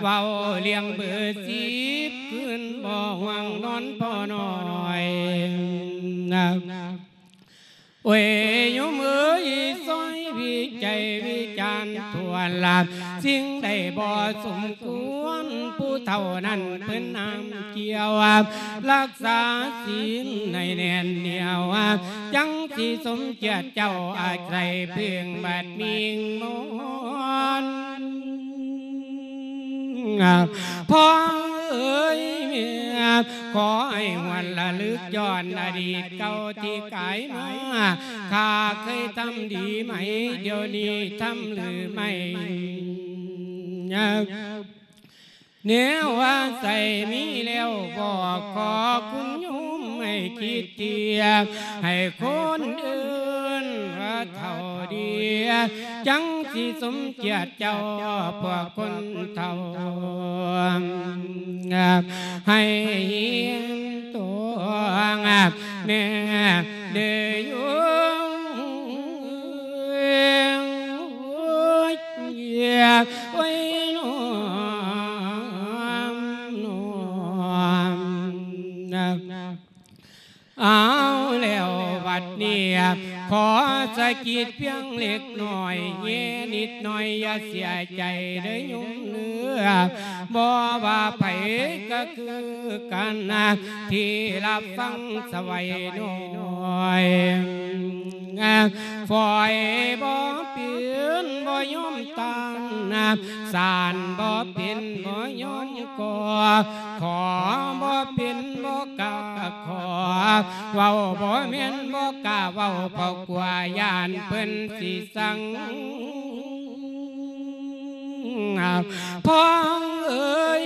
ເວົ້າລ້ຽງເບີສິບຄືນ ບໍ່ຫວ່າງນອນພໍ່ນ້ອຍ. ໂອ້ຍ ໂຍມເອີຍ ຊ່ອຍວິໄຈວິຈານຖ້ວນລະ ສິ່ງໃດບໍ່ສົມຄວນ ຜູ້ເຖົ້ານັ້ນເພິ່ນຫ້າມກ່ຽວ ລັກສາສິນໃຫ້ແໜ້ນໜຽວ ຈັ່ງຊິສົມກຽດເຈົ້າ ອາໄສເພິ່ງບາດມິງມອນ. ພໍ່ເອີຍແມ່ ຂໍໃຫ້ຫວນລະລຶກຍ້ອນອະດີດເກົ່າທີ່ກາຍມາ ຂ້າເຄີຍທຳດີໄໝ ດຽວນີ້ທຳຫຼືໄໝ? ແນວວ່າໃສມີແລ້ວບອກ ຂໍຄຸນໂຍມໃຫ້ຄິດທຽບ ໃຫ້ຄົນອື່ນວ່າເຖົ້າເດຍ ຈັ່ງຊິສົມກຽດເຈົ້າພວກຄົນເຖົ້າ ໃຫ້ເຫັນຕົວແນ່ເດີໂຍມ. ເອົາແລ້ວບັດນີ້ ຂໍສະກິດພຽງເລັກນ້ອຍ ແຍະນິດໜ້ອຍ ຢ່າເສຍໃຈເດີໂຍມເດີ ບໍ່ວ່າໃຜກໍຄືກັນ ທີ່ຮັບຟັງສະໄຫວນ້ອຍ ຝອຍບໍ່ເປັນບໍ່ຍອມຕ້ານ ສານບໍ່ເປັນບໍ່ຍອມກໍ ຂໍບໍ່ເປັນບໍ່ກ້າຂໍ ເວົ້າບໍ່ແມ່ນບໍ່ກ້າເວົ້າ ເພາະກົວຢ້ານເພິ່ນຊິຊັງ ພໍ່ເອີຍ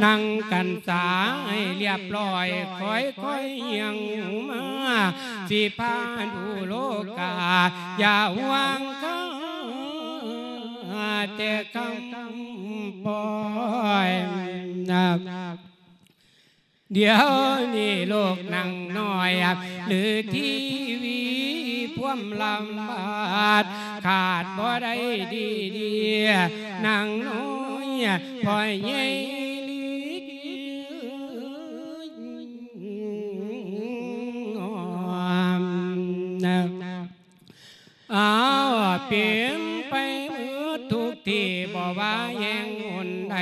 ນັ່ງກັນສາໃຫ້ລຽບຮ້ອຍ ຄ່ອຍໆຍ່າງມາ ຊິພາດູໂລກາ ຢ່າຫວັງຄ່າແຕ່ຄຳປ່ອຍ. ດຽວນີ້ລູກນາງນ້ອຍ ຫຼື ທີວີພວມລຳບາດ ຂາດບໍ່ໄດ້ດີໆ ນາງນ້ອຍ ພໍ່ໃຫຍ່ລີ້ ອ້າວ ເປັນໄປໝົດທຸກທີ່ ບໍ່ວ່າແຫ່ງຫົນໃດ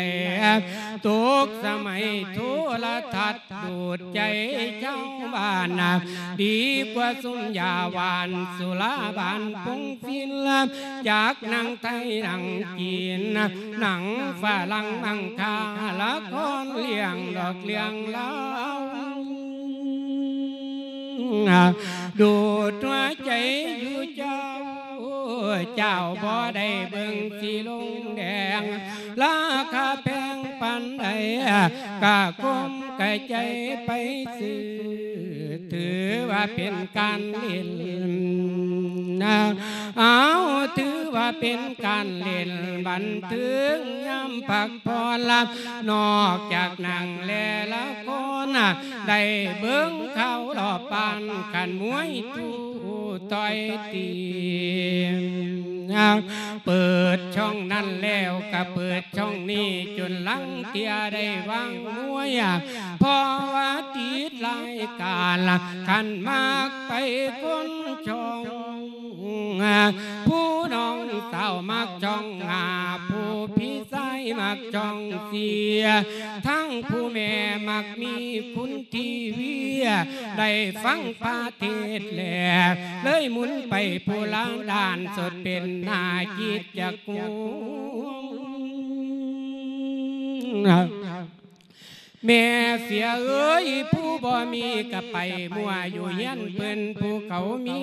ຕົກສະໄໝໂທລະທັດ ດູດໃຈຊາວບ້ານ ດີກວ່າຊຸມຢາຫວານ ສຸລາບານປົງຟິນ ຈັກໜັງໄທໜັງຈີນ ໜັງຝຣັ່ງມັງຄ່າ ລະຄອນເລື່ອງດອກເລື່ອງລາວ ດູດຫົວໃຈຢູ່ເຈົ້າ ເຈົ້າບໍ່ໄດ້ເບິ່ງສີລົງແດງ ລາຄາແພງປານໃດ ກະກົມກະໃຈໄປຊື້ ຖືວ່າເປັນການຫຼິ້ນ ເອົາ ຖືວ່າເປັນການຫຼິ້ນ ບັນເທີງຍາມພັກຜ່ອນ ນອກຈາກໜັງແລລະຄອນ ໄດ້ເບິ່ງຂ່າວລອບບ້ານ ຂັນມວຍຕູ້ຕ່ອຍຕີ ເປີດຊ່ອງນັ້ນແລ້ວກະເປີດຊ່ອງນີ້ ຈົນລາງເທື່ອໄດ້ວາງມວຍ ເພາະວ່າຕິດລາຍການ ຄັນມັກໄປຄົນຊ່ອງ ຜູ້ນ້ອງສາວມັກຊ່ອງ ຜູ້ພີ່ຊາຍມັກຊ່ອງເສຍ ທັງຜູ້ແມ່ມັກມີຄຸນ ທີວີ ໄດ້ຟັງພະເທດແລ້ວ ເລີຍໝູນໄປຜູ້ລະດ້ານ ສົດເປັນໜ້າຄິດຈັກງູ ແມ່ເສຍເອີຍ ຜູ້ບໍ່ມີກະໄປມົວຢູ່ເຮືອນເພິ່ນ ຜູ້ເຂົາມີ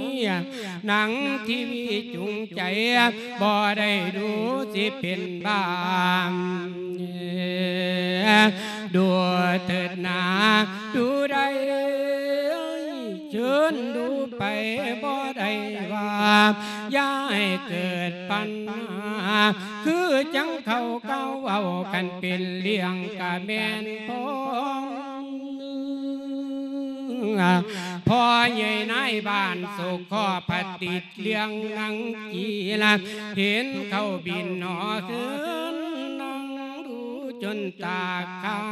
ໜັງທີວີຈູງໃຈ ບໍ່ໄດ້ດູຊິເປັນບ້າ ດູເທີດໜາ ດູໄດ້ ເຊີນດູໄປ ບໍ່ໄດ້ວ່າ ຢ່າໃຫ້ເກີດປັນຫາ ຄືຈັ່ງເຂົາກ່າວເວົ້າ ຄັນເປັນເລື່ອງກະແມ່ນພ້ອມ ພໍ່ໃຫຍ່ນາຍບ້ານ ໂສກຂໍຜະຕິດ ເລື່ອງນາງຈີລະ ເຫັນເຂົາບິນຫໍເຮືອນ ນັ່ງດູຈົນຕາຄ້າງ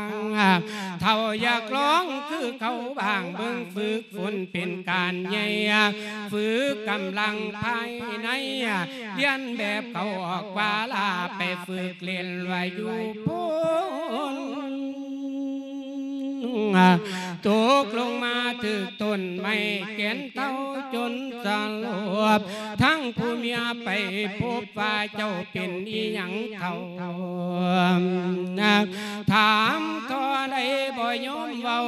ເຖົ້າຢາກລອງຄືເຂົາບ້າງ ເບິ່ງຝຶກຝົນເປັນການໃຫຍ່ ຝຶກກຳລັງພາຍໃນ ລຽນແບບເຂົາອອກວ່າລາ ໄປຝຶກຫຼິ້ນວ່າຢູ່ພຸ້ນ ຕົກລົງມາຖືກຕົ້ນໄມ້ແກ່ນເທົ້າຈົນສະຫຼົບ ທັງຜູ້ເມຍໄປພົບວ່າເຈົ້າເປັນອີ່ຫຍັງເຖົ້າ ຖາມທໍ່ໃດບໍ່ຍອມເວົ້າ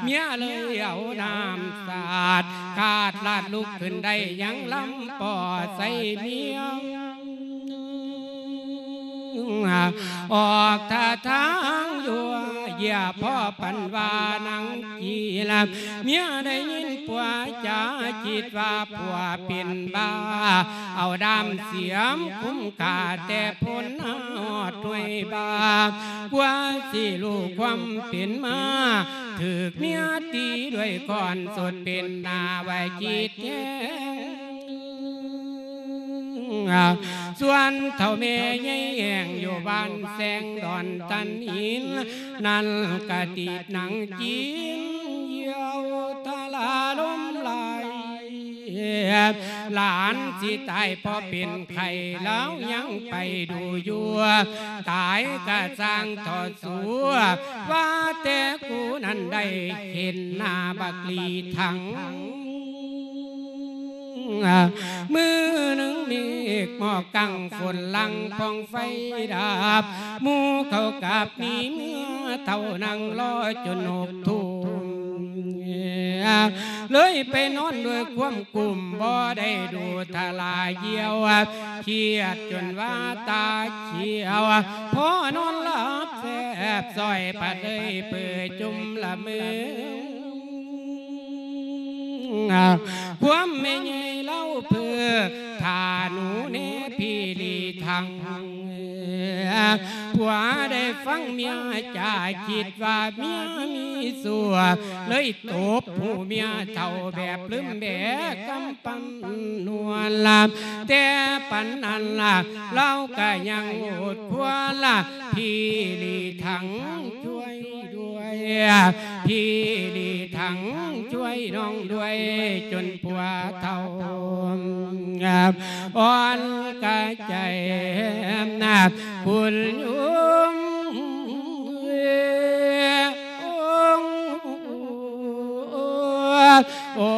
ເມຍເລີຍເອົານ້ຳສາດ ຂາດລາດລຸກຂຶ້ນໄດ້ຍັງລຳປໍໃສ່ເມຍ ອອກທ່າທາງຢູ່ເຢ້ຍພໍປານວ່ານາງຈີລະ ເມຍໄດ້ຍິນຜົວຈາຄິດວ່າຜົວເປັນບ້າ ເອົາດ້າມສຽມຄຸມຂ້າແຕ່ພົ້ນຮອດຫ້ວຍບາ ກວ່າຊິຮູ້ຄວາມເປັນມາ ຖືກເມຍຕີດ້ວຍຄ້ອນ ສົດເປັນໜ້າວ່າຈິດແຮງ ສ່ວນເຖົ້າແມ່ໃຫຍ່ແຫ້ງຢູ່ບ້ານແສງດອນຕັນຫີນ ນັ້ນກະຕິດນາງຈີນ ຫຼານຊິຕາຍເພາະເປັນໄຂ້ ລາວຍັງໄປດູຢູ່ ຕາຍກະຊ່າງເຖາະສູ ວ່າແຕ່ກູນັ້ນໄດ້ເຫັນໜ້າບັກຫຼີຖັງ. ມື້ໜຶ່ງເມກໝອກກັງຝົນຫຼັ່ງ ປ່ອງໄຟດັບ ໝູ່ເຂົາກັບໜີເມືອ ເຖົ້ານັ່ງລໍຈົນຫົກທຸ່ມ ເລີຍໄປນອນດ້ວຍຄວາມກຸ້ມ ບໍ່ໄດ້ດູທະລາຢຽວ ຄຽດຈົນວ່າຕາຂຽວ ພໍນອນຫຼັບແຊບ ຊ້ອຍພັດເອີຍເປີຈຸ່ມລະເມີ ຄວາມແມ່ໃຫຍ່ລາວເພີ ຖ້າໜູແນ່ພີ່ຫຼີຖັງ ຜົວໄດ້ຟັງເມຍຈາ ຄິດວ່າເມຍມີຊົ່ວ ເລີຍຕົບຫູເມຍເຖົ້າແບບລືມແບກຳ ປັນນວນລະ ແຕ່ປານນັ້ນລະ ລາວກະຍັງໂອດຄວນລະ ພີ່ຫຼີຖັງຊ່ວຍດ້ວຍ ພີ່ຫຼີຖັງຊ່ວຍນ້ອງດ້ວຍ ຈົນຜົວເຖົ້າອ່ອນກະໃຈ ຄຸນຍົມ ໂອ້ ໂອ້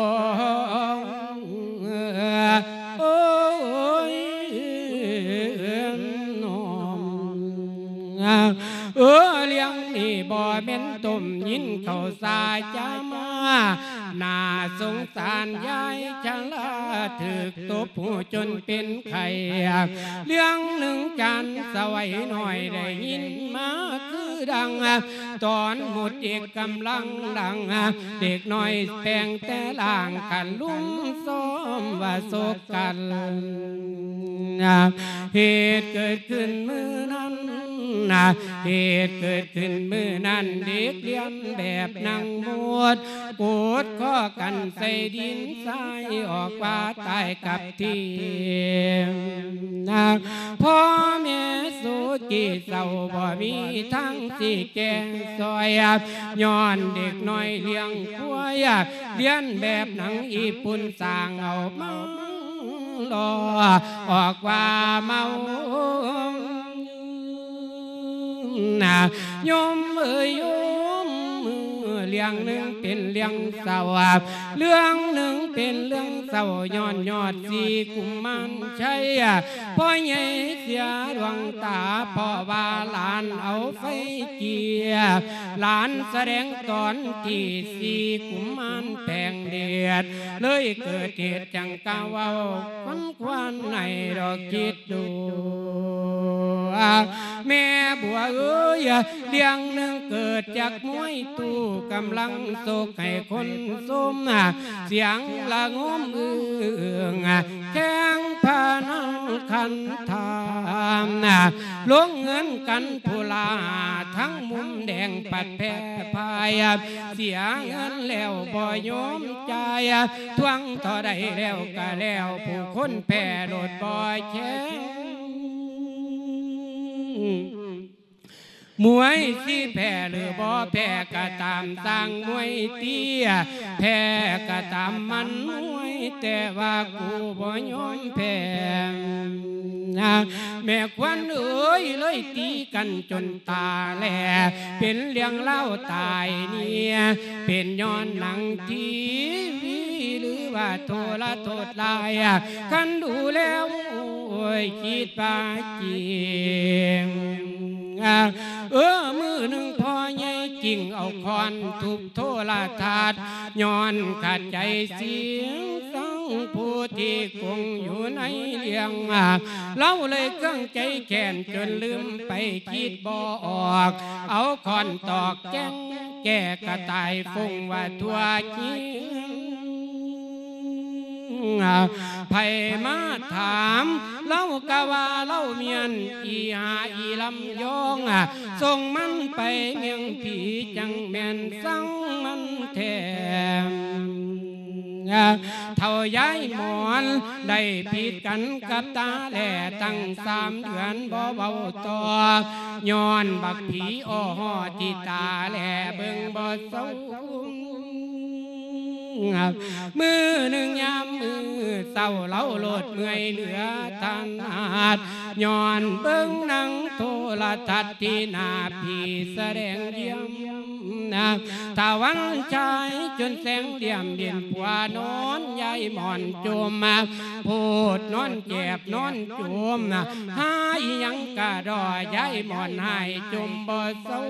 ໂອ້ຍ ນ້ອງ ເອີ ເລື່ອງນີ້ບໍ່ແມ່ນຕົ້ມ ຍິນເຂົາສາຈາມາ ໜ້າສົງສານຍາຍຊະລາ ຖືກຕົບຫູຈົນເປັນໄຂ້ ເລື່ອງໜຶ່ງຈານສະໄຫວນ້ອຍໄດ້ຍິນມາຄືດັງ ຕອນໝົດເດັກກຳລັງດັງ ເດັກນ້ອຍແປງແຕ່ລ່າງ ຄັນລຸມຊ້ອມວ່າສົກກັນ ເຫດເກີດຂຶ້ນມື້ນັ້ນ ເຫດເກີດຂຶ້ນມື້ນັ້ນ ເດັກລຽນແບບນັ່ງໝົດ ກົດຂໍ້ກັນໃສ່ດິນຊາຍ ອອກວ່າຕາຍກັບ ທີ່ ພໍ່ແມ່ສຸກີເສົ້າ ບໍ່ມີທາງຊິແກ້ຊ່ອຍ ຍ້ອນເດັກນ້ອຍລ້ຽງຄວາຍ ລຽນແບບໜັງຍີ່ປຸ່ນສ້າງເອົາມາຫຼໍ່ ອອກວ່າເມົາ ນະ ໂຍມເອີຍໂຍມ ເລື່ອງໜຶ່ງເປັນເລື່ອງເສົ້າ ເລື່ອງໜຶ່ງເປັນເລື່ອງເສົ້າ ຍ້ອນຍອດສີກຸມມານໄຊ ພໍ່ໃຫຍ່ເສຍດວງຕາ ເພາະວ່າຫຼານເອົາໄຟເກຍ ຫຼານສະແດງຕອນທີ່ສີກຸມມານແຜງເດດ ເລີຍເກີດເຫດຈັ່ງກະເວົ້າ ຄວັນຄວານໃຫ້ດອກຄິດ ດູ ແມ່ບົວເອີຍ ເລື່ອງໜຶ່ງເກີດຈາກມວຍຕູ້ ກຳລັງໂຊກໃຫ້ຄົນຊົມ ສຽງລະງົມອຶ້ງ ແຂ່ງພະນັນຂັນທາ ລົງເງິນກັນຜູ້ລາ ທັງມຸມແດງປັດແພ້ພາຍ ເສຍເງິນແລ້ວບໍ່ຍອມຈ່າຍ ທວງເທົ່າໃດແລ້ວກະແລ້ວ ຜູ້ຄົນແພ້ໂລດບໍ່ແຂງ ມວຍຊິແພ້ຫຼືບໍ່ແພ້ກະຕາມ ຊ່າງມວຍຕີ ແພ້ກະຕາມມັນມວຍ ແຕ່ວ່າກູບໍ່ຍອມແພ້ ແມ່ຂວັນເອີຍ ເລີຍຕີກັນຈົນຕາແຫຼ ເປັນເລື່ອງລາວຕາຍເນຍ ເປັນຍ້ອນໜັງທີວີ ຫຼືວ່າໂທລະໂທດລາຍ ຄັນດູແລ້ວໂອ້ຍ ຄິດວ່າຈິງ ເອີ ມື້ໜຶ່ງພໍ່ໃຫຍ່ຈິງເອົາຄ້ອນທຸບໂທລະທັດ ຍ້ອນຂັດໃຈສຽງສັງຜູ້ທີ່ກົງຢູ່ໃນເລື່ອງ ລາວເລີຍເຄືອງໃຈແຄ້ນຈົນລືມໄປຄິດບໍ່ອອກ ເອົາຄ້ອນຕອກແກ້ງແກ້ກະຕ່າຍຟົງວ່າທົ່ວເຮືອນ ໃຜມາຖາມ ລາວກະວ່າລາວມ້ຽນ ອີຫາອີລຳຍອງ ສົ່ງມັນໄປເມືອງຜີ ຈັ່ງແມ່ນສັງມັນແທ້ ເຖົ້າຍາຍໝອນ ໄດ້ຜິດກັນກັບຕາແລ ຕັ້ງສາມເດືອນບໍ່ເວົ້າຕໍ່ ຍ້ອນບັກຜີອໍຫໍ່ທີ່ຕາແລ ເບິ່ງບໍ່ເຊົາ ມື້ໜຶ່ງຍາມມື້ເຊົ້າ ລາວໂລດເມື່ອຍເຫຼືອຖະໜາດ ຍ້ອນເບິ່ງໜັງໂທລະທັດທີ່ໜ້າຜີສະແດງຢ້ຽມ ຕາວັນຊາຍຈົນແສງຫຼ່ຽມ ຫຼິ້ນປົວນອນ ຍາຍໝອນຈົ່ມ ໂພດນອນແຈບນອນຈົ່ມ ຫາອີ່ຫຍັງກະດໍ ຍາຍໝອນຫາຍຈົ່ມບໍ່ເຊົາ.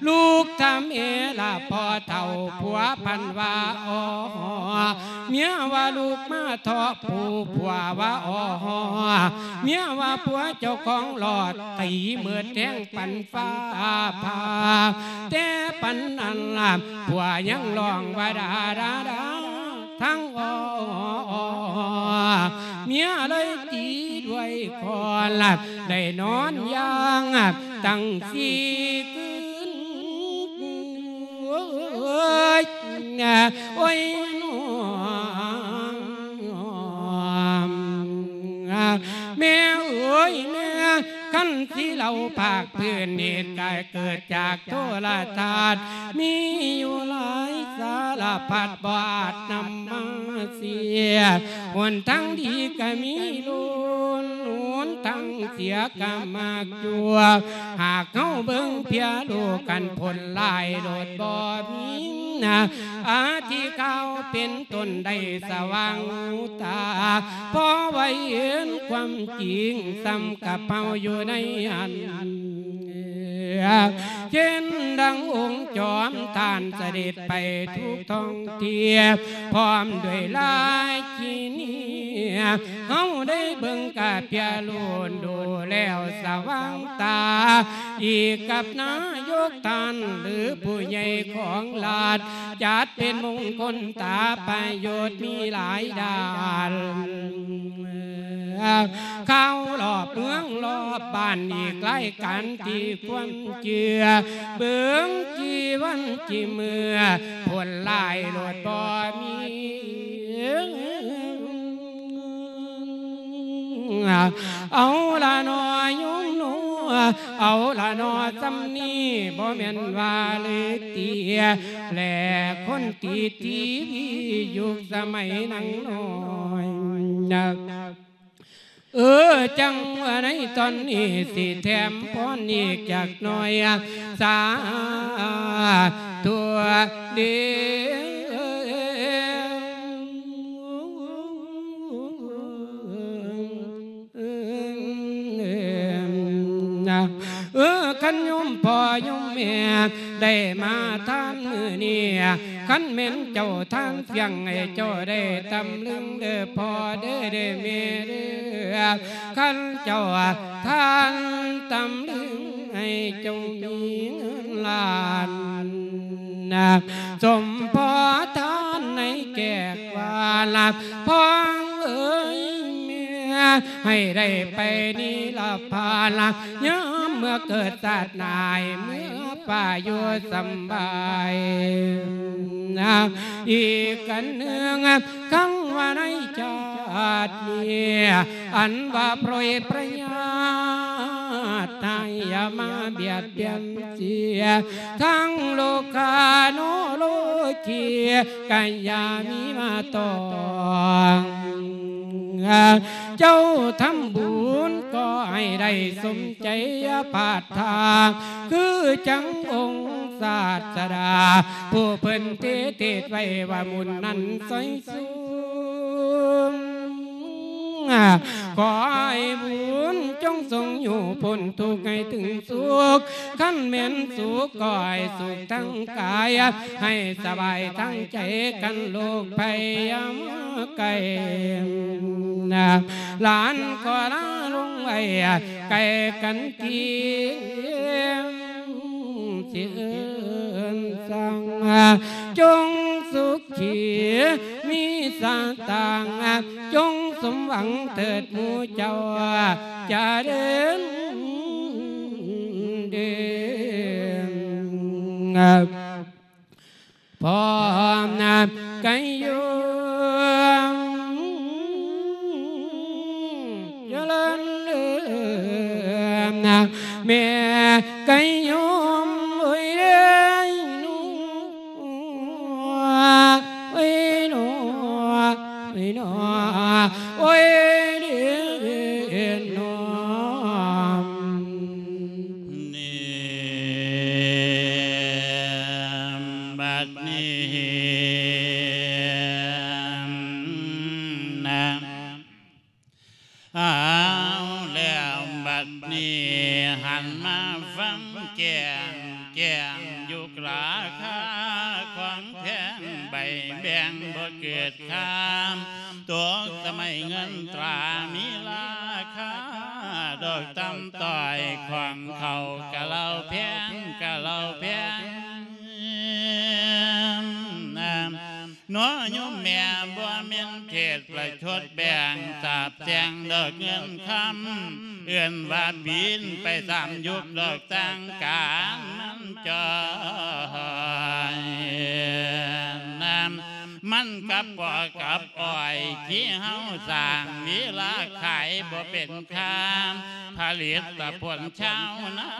ລູກຖາມເອລະພໍ່ເຖົ້າ ຜົວພັນວ່າ ອໍ ເມຍວ່າລູກມາເທາະ ຜູ້ຜົວວ່າ ອໍ ເມຍວ່າຜົວເຈົ້າຂອງຫຼອດ ຕີເມີດແຮງປານຟ້າຜ່າ ແຕ່ປານນັ້ນລະ ຜົວຍັງຮ້ອງວ່າ ດາ ດາ ດາ ທັງ ອໍ ເມຍເລີຍຕີດ້ວຍຄ້ອນ ໄດ້ນອນຢ່າງຕັ້ງສີ່ຄືນ ໂອ້ຍ ໂອ້ຍ ແມ່ເອີຍແມ່ ຄັນຊິເລົ່າພາກພື້ນ ເຫດການເກີດຈາກໂທລະທັດ ມີຢູ່ຫຼາຍສາລະພັດ ບໍ່ອາດນຳມາເສຍ ຫົນທາງດີກະມີລ້ວນ ຫົນທາງເສຍກະມັກຢູ່ ຫາກເຮົາເບິ່ງເພຍໂລກ ຄັນຜົນລາຍໂລດບໍ່ມີ ອາທິກາວເປັນຕົ້ນໄດ້ສະຫວ່າງຫູຕາ ພໍໄວເຫັນຄວາມຈິງ ສ່ຳກັບເຮົາຢູ່ໃນອັນ ເຊັ່ນດັ່ງອົງຈອມທ່ານສະເດັດໄປທຸກທ້ອງທີ່ ພ້ອມດ້ວຍລາຍກິເນຍ ເຮົາໄດ້ເບິ່ງກະເພຍໂລນ ດູແລ້ວສະຫວ່າງຕາ ອີກກັບນາຍົກທ່ານ ຫຼືຜູ້ໃຫຍ່ຂອງລັດ ຈັດເປັນມົງຄົນຕາ ປະໂຫຍດມີຫຼາຍດ້ານ ຂ່າວລອບເມືອງລອບບ້ານ ອີກຫຼາຍການທີ່ຄວນເຊື່ອ ເບິ່ງກີ່ວັນກີ່ເມື່ອ ຜົນລາຍໂລດບໍ່ມີ ເອົາລະໜໍ່ໂຍມໜໍ່ ເອົາລະໜໍ່ ຊ່ຳນີ້ບໍ່ແມ່ນວ່າເລີຍຕິ ແລະຄົນຕິດທີວີ ຍຸກສະໄໝນາງນ້ອຍ ເອີ ຈັ່ງວ່າໃນຕອນນີ້ ຊິແຖມພອນອີກຈັກໜ້ອຍ ສາທຸເດີ. ເອີ ຄັນໂຍມພໍ່ໂຍມແມ່ໄດ້ມາທານມື້ນີ້ ຄັນແມ່ນເຈົ້າທານສ່ຽງໃຫ້ເຈົ້າໄດ້ຕຳລຶງເດີພໍ່ເດີ ເດີແມ່ເດີ ຄັນເຈົ້າທານຕຳລຶງໃຫ້ເຈົ້າມີເງິນລ້ານ ສົມພໍທານໃນແຂກວ່າລະ ພໍ່ເອີຍແມ່ ໃຫ້ໄດ້ໄປນິລະພານລະ ຍາມເມື່ອເກີດຊາດໜ້າ ໃຫ້ເມື່ອຟ້າຢູ່ສຳບາຍ ອີກອັນໜຶ່ງ ຄັງວ່າໃນຊາດນີ້ ອັນວ່າໂປດປະຍາດ ໃຫ້ຢ່າມາບຽດບຽນເສຍ ທັງໂລກາໂນໂລກີ ກະຢ່າມີມາຕ້ອງ ເຈົ້າທຳບຸນກໍໃຫ້ໄດ້ສົມໃຈ ຢ່າພາດທາດ ຄືຈັ່ງອົງສາດສະດາ ຜູ້ເພິ່ນເທດເທດໄວ້ວ່າບຸນນັ້ນຊ່ອຍສູງ ຂໍໃຫ້ບຸນຈົ່ງສົ່ງຢູ່ພົ້ນທຸກໃຫ້ເຖິງສຸກ ຄັນແມ່ນສຸກກໍໃຫ້ສຸກທັງກາຍ ໃຫ້ສະບາຍທັງໃຈ ກັນໂລກໄພຢ່າມາໃກ້ ຫຼານກໍລາລົງໄວ້ ໃກ້ກັນທີ່ ຊິເອີ້ນສັ່ງ ຈົ່ງສຸຂີມີສະຕາງ ຈົ່ງສົມຫວັງເທີດໝູ່ເຈົ້າ ຈະເດີນເດີນ ພ້ອມນະໄກໂຍມ ຈະເລີນເລີນນະ ແມ່ໄກໂຍມເອີຍເດີ. ນີ້ຫັນມາຟັງແຈ້ງ ແຈ້ງຢູ່ລາຄາຂອງແພງ ໃບແບ່ງບໍ່ເກີດຄາ ຕົກສະໄໝເງິນຕາມີລາຄາ ດອກຕ່ຳຕ້ອຍຂອງເຂົາກະເລົ່າແພງ ກະເລົ່າແພງ ເນາະໂຍມແມ່ ບໍ່ແມ່ນເທດປະຊົດແບ່ງ ສາບແຊ່ງດອກເງິນຄຳ ເອີ້ນວ່າບິນໄປຕາມຍຸກດອກ ຕ່າງການມັນຈ່ອຍ ມັນກັບປອກກັບອ້ອຍ ທີ່ເຮົາສ້າງເວລາຂາຍບໍ່ເປັນຄ່າ ຜະລິດຕະຜົນຊາວນາ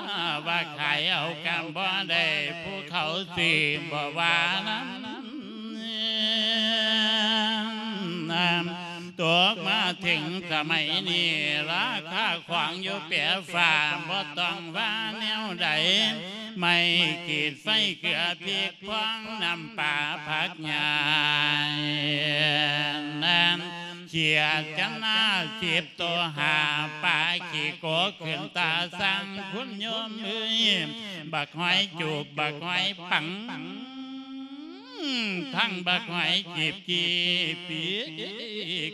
ວ່າຂາຍເອົາກຳບໍ່ໄດ້ ຜູ້ເຂົາຊື້ບໍ່ວ່ານຳ ຕົກມາເຖິງສະໄໝນີ້ ລາຄາຂອງຢູ່ແປຟ້າ ບໍ່ຕ້ອງວ່າແນວໃດ ໄມ້ຂີດໄຟເກືອພິກ ພວງນ້ຳປາຜັກຫຍ້າ ຂຽດຈັນນາສິບໂຕຫ້າ ປາຂີ້ໂກກຂຶ້ນຕາສັງ ຄຸນໂຍມເອີຍ ບັກຫອຍຈູບ ບັກຫອຍປັງ ທັງບັກຫອຍຈີບກີບປີ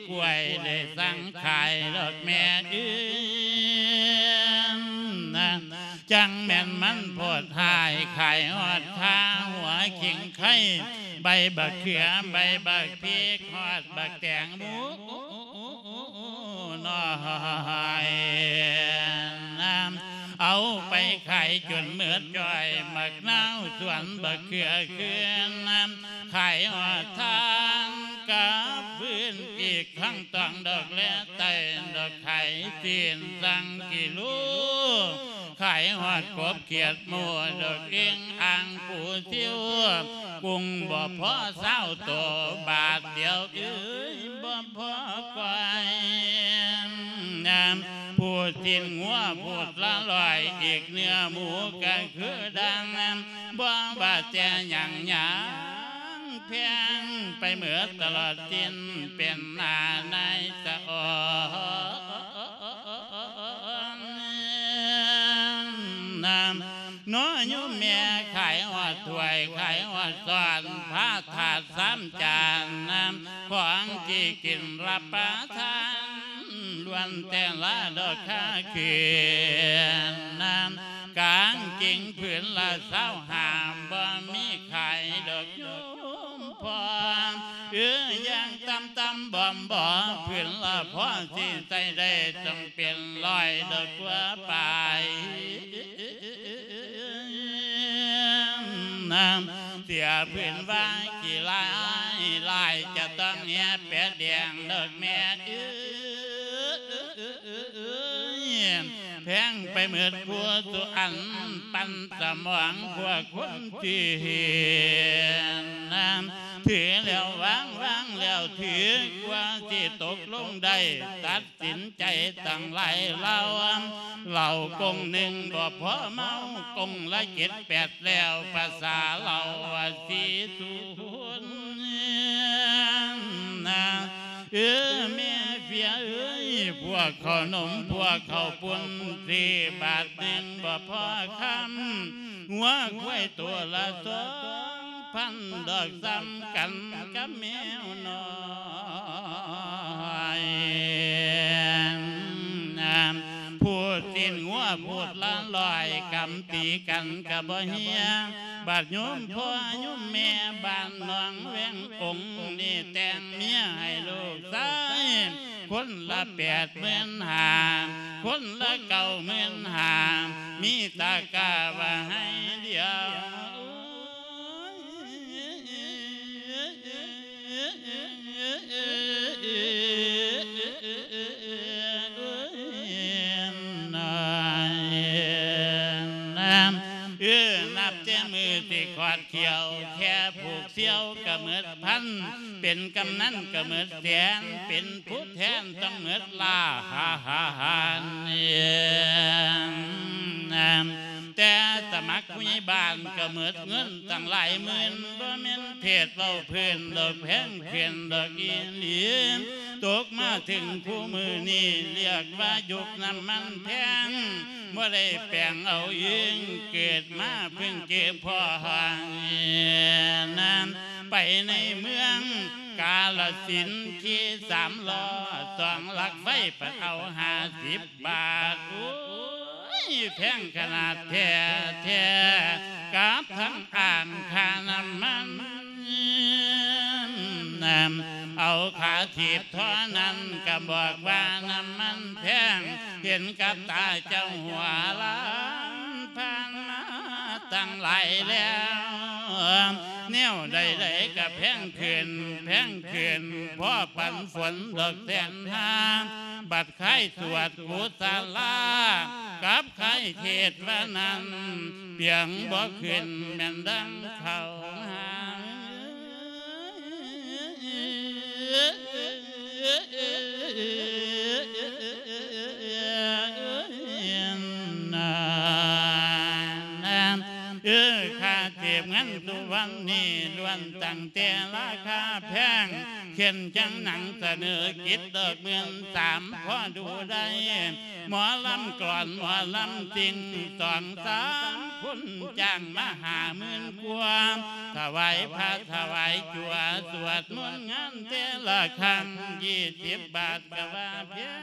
ກ້ວຍໄດ້ສັ່ງຂາຍດອກແມ່ເອີຍ ຈັ່ງແມ່ນມັນໂພດຮ້າຍ ຂາຍຮອດຄາຫົວຂີງໄຄ ໃບບັກເຂືອ ໃບບັກພິກ ຮອດບັກແຕງໂມນ້ອຍ ເອົາໄປຂາຍຈົນໝົດຈ້ອຍ ບັກນາວສວນບັກເຂືອຄືນ ຂາຍຮອດທາງກັບຄືນ ອີກທັງຕອງດອກແລໃຕ້ ດອກຂາຍຊີ້ນສັ່ງກິໂລ ຂາຍຮອດກົບຂຽດໝູ ດອກເອງອ່າງປູຊິວ ກຸງບໍ່ພໍຊາວໂຕ ບາດດຽວເອີຍບໍ່ພໍກ້ອຍ ຜູ້ຊີ້ນງົວພູດລະຮ້ອຍ ອີກເນື້ອໝູກະຄືດັ່ງ ບໍ່ວ່າແຕ່ຫຍັງຫຍັງ ແພງໄປເໝິດຕະຫຼອດສິ້ນ ເປັນໜ້ານາຍສະອອນ ເນາະໂຍມແມ່ ຂາຍຮອດຖ້ວຍ ຂາຍຮອດຊ້ອນ ພະຖາດສາມຈານ ຂອງທີ່ກິນຮັບປະທານ ລ້ວນແຕ່ລະດອກຄ່າຄືນ ກາງເກງຜືນລະຊາວຫ້າ ບໍ່ມີຂາຍດອກໂຍມພໍ່ ເອີ ຢ່າງຕ່ຳໆບອມໆ ຜືນລະພໍຊິໃຊ້ໄດ້ ຕ້ອງເປັນຮ້ອຍດອກກວ່າປາຍ ເສຍຜືນວ່າຂີ້ລາຍ ລາຍຈະຕ້ອງແຫ່ແປດແດງດອກແມ່ເອີຍ ແພງໄປໝົດຄູ່ສູ່ອັນ ປັ່ນສະໝອງພວກຄົນທີ່ເຫັນ ຖືແລ້ວວາງ ວາງແລ້ວຖື ກວ່າຊິຕົກລົງໄດ້ ຕັດສິນໃຈຕັ້ງຫຼາຍເຫຼົ່າ ເຫຼົ້າກົງໜຶ່ງບໍ່ພໍເມົາ ກົງລະເຈັດແປດແກ້ວ ພາສາເລົ່າວ່າສີສຸນ ເອີ ແມ່ເຟຍເອີຍ ພວກເຂົ້າໜົມ ພວກເຂົ້າປຸ້ນ ສີ່ບາດໜຶ່ງບໍ່ພໍຄຳ ງົວຄວາຍໂຕລະສອງພັນ ດອກສ່ຳກັນກັບແມວນ້ອຍ ຜູ້ຊີ້ນງົວພູດລະຮ້ອຍ ກຳຕີກັນກະບໍ່ເຮຍ ບາດໂຍມພໍ່ໂຍມແມ່ ບ້ານໜອງແວງອົງ ນີ້ແຕ່ງເມຍໃຫ້ລູກຊາຍ ຄົນລະແປດໝື່ນຫ້າ ຄົນລະເກົ້າໝື່ນຫ້າ ມີຕາກ້າວ່າໃຫ້ດຽວ ເອີ ນັບແຕ່ມື້ທີ່ຂອດຂຽວ ແຄ່ຜູກສ່ຽວກະໝົດພັນ ເປັນກຳນັນກະໝົດແສນ ເປັນຜູ້ແທນຕ້ອງໝົດລ້ານ ແຕ່ສະໝັກຜູ້ໃຫຍ່ບ້ານກະໝົດເງິນຕັ້ງຫຼາຍໝື່ນ ບໍ່ແມ່ນເທດເວົ້າພື້ນດອກ ແພງຂຶ້ນດອກອີ່ຫຼີ ຕົກມາເຖິງຄູ່ມື້ນີ້ ຮຽກວ່າຍຸກນ້ຳມັນແພງ ບໍ່ໄດ້ແປງເອົາເອງ ເກີດມາເພິ່ງເກບພໍ້ນັ້ນ ໄປໃນເມືອງກາລະສິນ ຂີ່ສາມລໍ້ສອງຫຼັກໄຟ ໄປເອົາຫ້າສິບ ບາດ ໂອ້ຍ ແພງຂະໜາດແທ້ໆ ກັບທັງອ່າງຄ່ານ້ຳມັນ ເອົາຄ່າຖີບທໍ່ນັ້ນ ກໍບອກວ່ານ້ຳມັນແພງ ເຫັນກັບຕາເຈົ້າຫົວລ້ານ ຜ່ານມາຕັ້ງຫຼາຍແລ້ວ ແນວໃດໆ ກໍແພງຂຶ້ນ ແພງຂຶ້ນ ພໍປັນຝົນດອກແສນຫ້າ ບັດ ຂາຍສວດກຸສະລາ ກັບຂາຍເທດວ່ານັ້ນ ປຽງບໍ່ຂຶ້ນແມ່ນດັ່ງເຂົາຫາ ເອີ ຄ່າເກັບເງິນທຸກວັນນີ້ ລ້ວນຕັ້ງແຕ່ລາຄາແພງ ເຊັ່ນຈັ່ງໜັງສະເໜີກິດດອກໝື່ນສາມ ພໍດູໄດ້ ໝໍລຳກລອນ ໝໍລຳຈິງ ສອງສາມຄົນຈ້າງມາຫ້າໝື່ນກວ່າ ຖວາຍພະຖວາຍຈົວ ສວດມົນງານແຕ່ລະຄັ້ງຊາວບາດ ກໍວ່າແພງ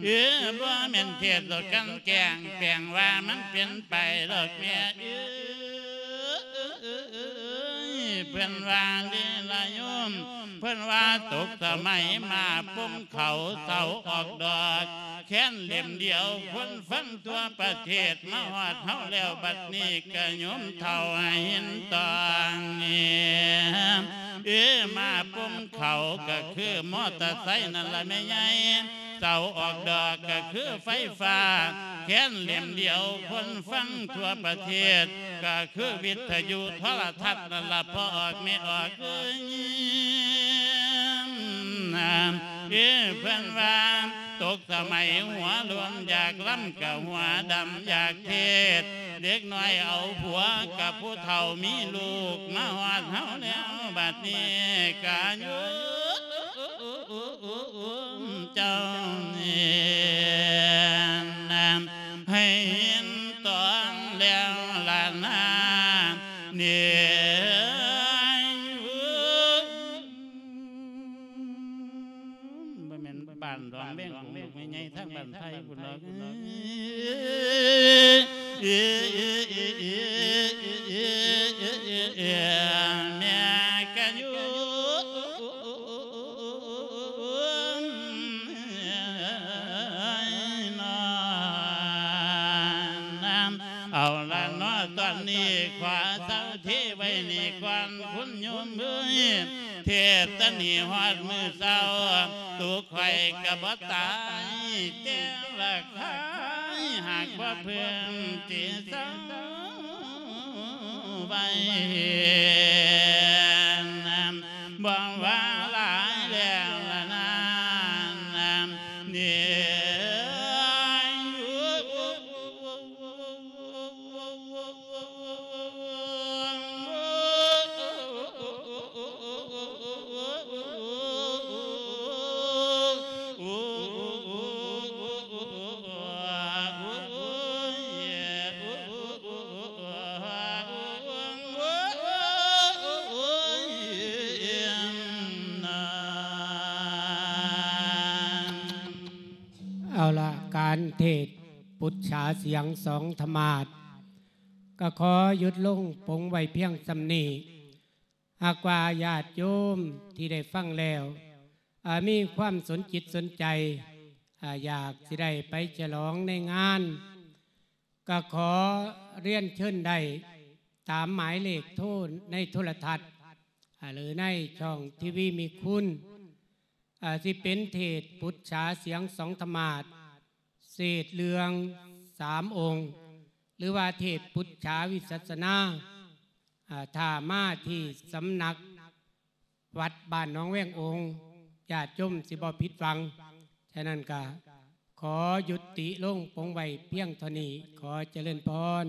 ເອີ ບໍ່ແມ່ນເທດດອກກັນແກ້ງ ແປງວ່າມັນເປັນໄປດອກແມ່ເອີ ເພິ່ນວ່າເດລະໂຍມ ເພິ່ນວ່າຕົກສະໄໝໝາປົງເຂົ້າເສົາອອກດອກ ແຄ້ນເຫຼັ້ມດຽວຄົນຟັງທົ່ວປະເທດ ມາຮອດເຮົາແລ້ວບັດນີ້ກະໂຍມເຖົ້າໃຫ້ເຫັນຕ້ອງ ເອີ ໝາປົງເຂົ້າກະຄືມໍເຕີໄຊນັ້ນລະແມ່ໃຫຍ່ ເສົາອອກດອກກະຄືໄຟຟ້າ ແຄ້ນເຫຼັ້ມດຽວຄົນຟັງທົ່ວປະເທດ ກະຄືວິທະຍຸໂທລະທັດນັ້ນລະ ພໍ່ອອກແມ່ອອກເອີຍ ເອີ ເພິ່ນວ່າຕົກສະໄໝຫົວໂລ້ນ ຢາກລຳກະຫົວດຳ ຢາກເທດ ເດັກນ້ອຍເອົາຜົວກັບຜູ້ເຖົ້າມີລູກ ມາຮອດເຮົາແລ້ວບັດນີ້ກະຢູ່ ເຈົ້ານີ້ ໃຫ້ເຫັນຕ້ອງແລ້ວລະນາ ນີ້ ບໍ່ແມ່ນບ້ານດອງແວງ ແມ່ໃຫຍ່ທາງບ້ານໄຜ່ພຸ້ນດອກ ແມ່ກະຢູ່ ເອົາລະເນາະ ຕອນນີ້ຂໍເຊົາເທໄວ້ນີ້ກ່ອນ ຄຸນໂຍມເອີຍ ເທດຕະນີ້ຮອດມື້ເຊົ້າ ໂຕຂ້ອຍກະບໍ່ຕາຍແຕ່ລະຄາຍ ຫາກບໍ່ເພິ່ງຊິເຊົາໄວ້ ບໍ່ວ່າຫຼາຍແລ້ວລະນາ ນີ້ ເອົາລະ ການເທດປຸດສາສຽງສອງທຳມາດ ກໍຂໍຢຸດລົງປົງໄວ້ພຽງສ່ຳນີ້. ຫາກວ່າຍາດໂຍມທີ່ໄດ້ຟັງແລ້ວ ອາ ມີຄວາມສົນຈິດສົນໃຈ ອາ ຢາກຊິໄດ້ໄປສະຫຼອງໃນງານ ກໍຂໍລຽນເຊີນໄດ້ຕາມໝາຍເລກໂທໃນໂທລະທັດ ອາ ຫຼືໃນຊ່ອງທີວີມີຄຸນ ອາ ຊິເປັນເທດປຸດສາສຽງສອງທຳມາດ ເສດເລື່ອງສາມອົງ ຫຼືວ່າເທດປຸດສາວິປັດສະນາ ອາ ຖ້າມາທີ່ສຳນັກວັດບ້ານໜອງແວງອົງ ຍາດໂຍມຊິບໍ່ຜິດຫວັງ. ສະນັ້ນກະຂໍຍຸຕິລົງປົງໄວ້ພຽງເທົ່ານີ້. ຂໍຈະເລີນພອນ.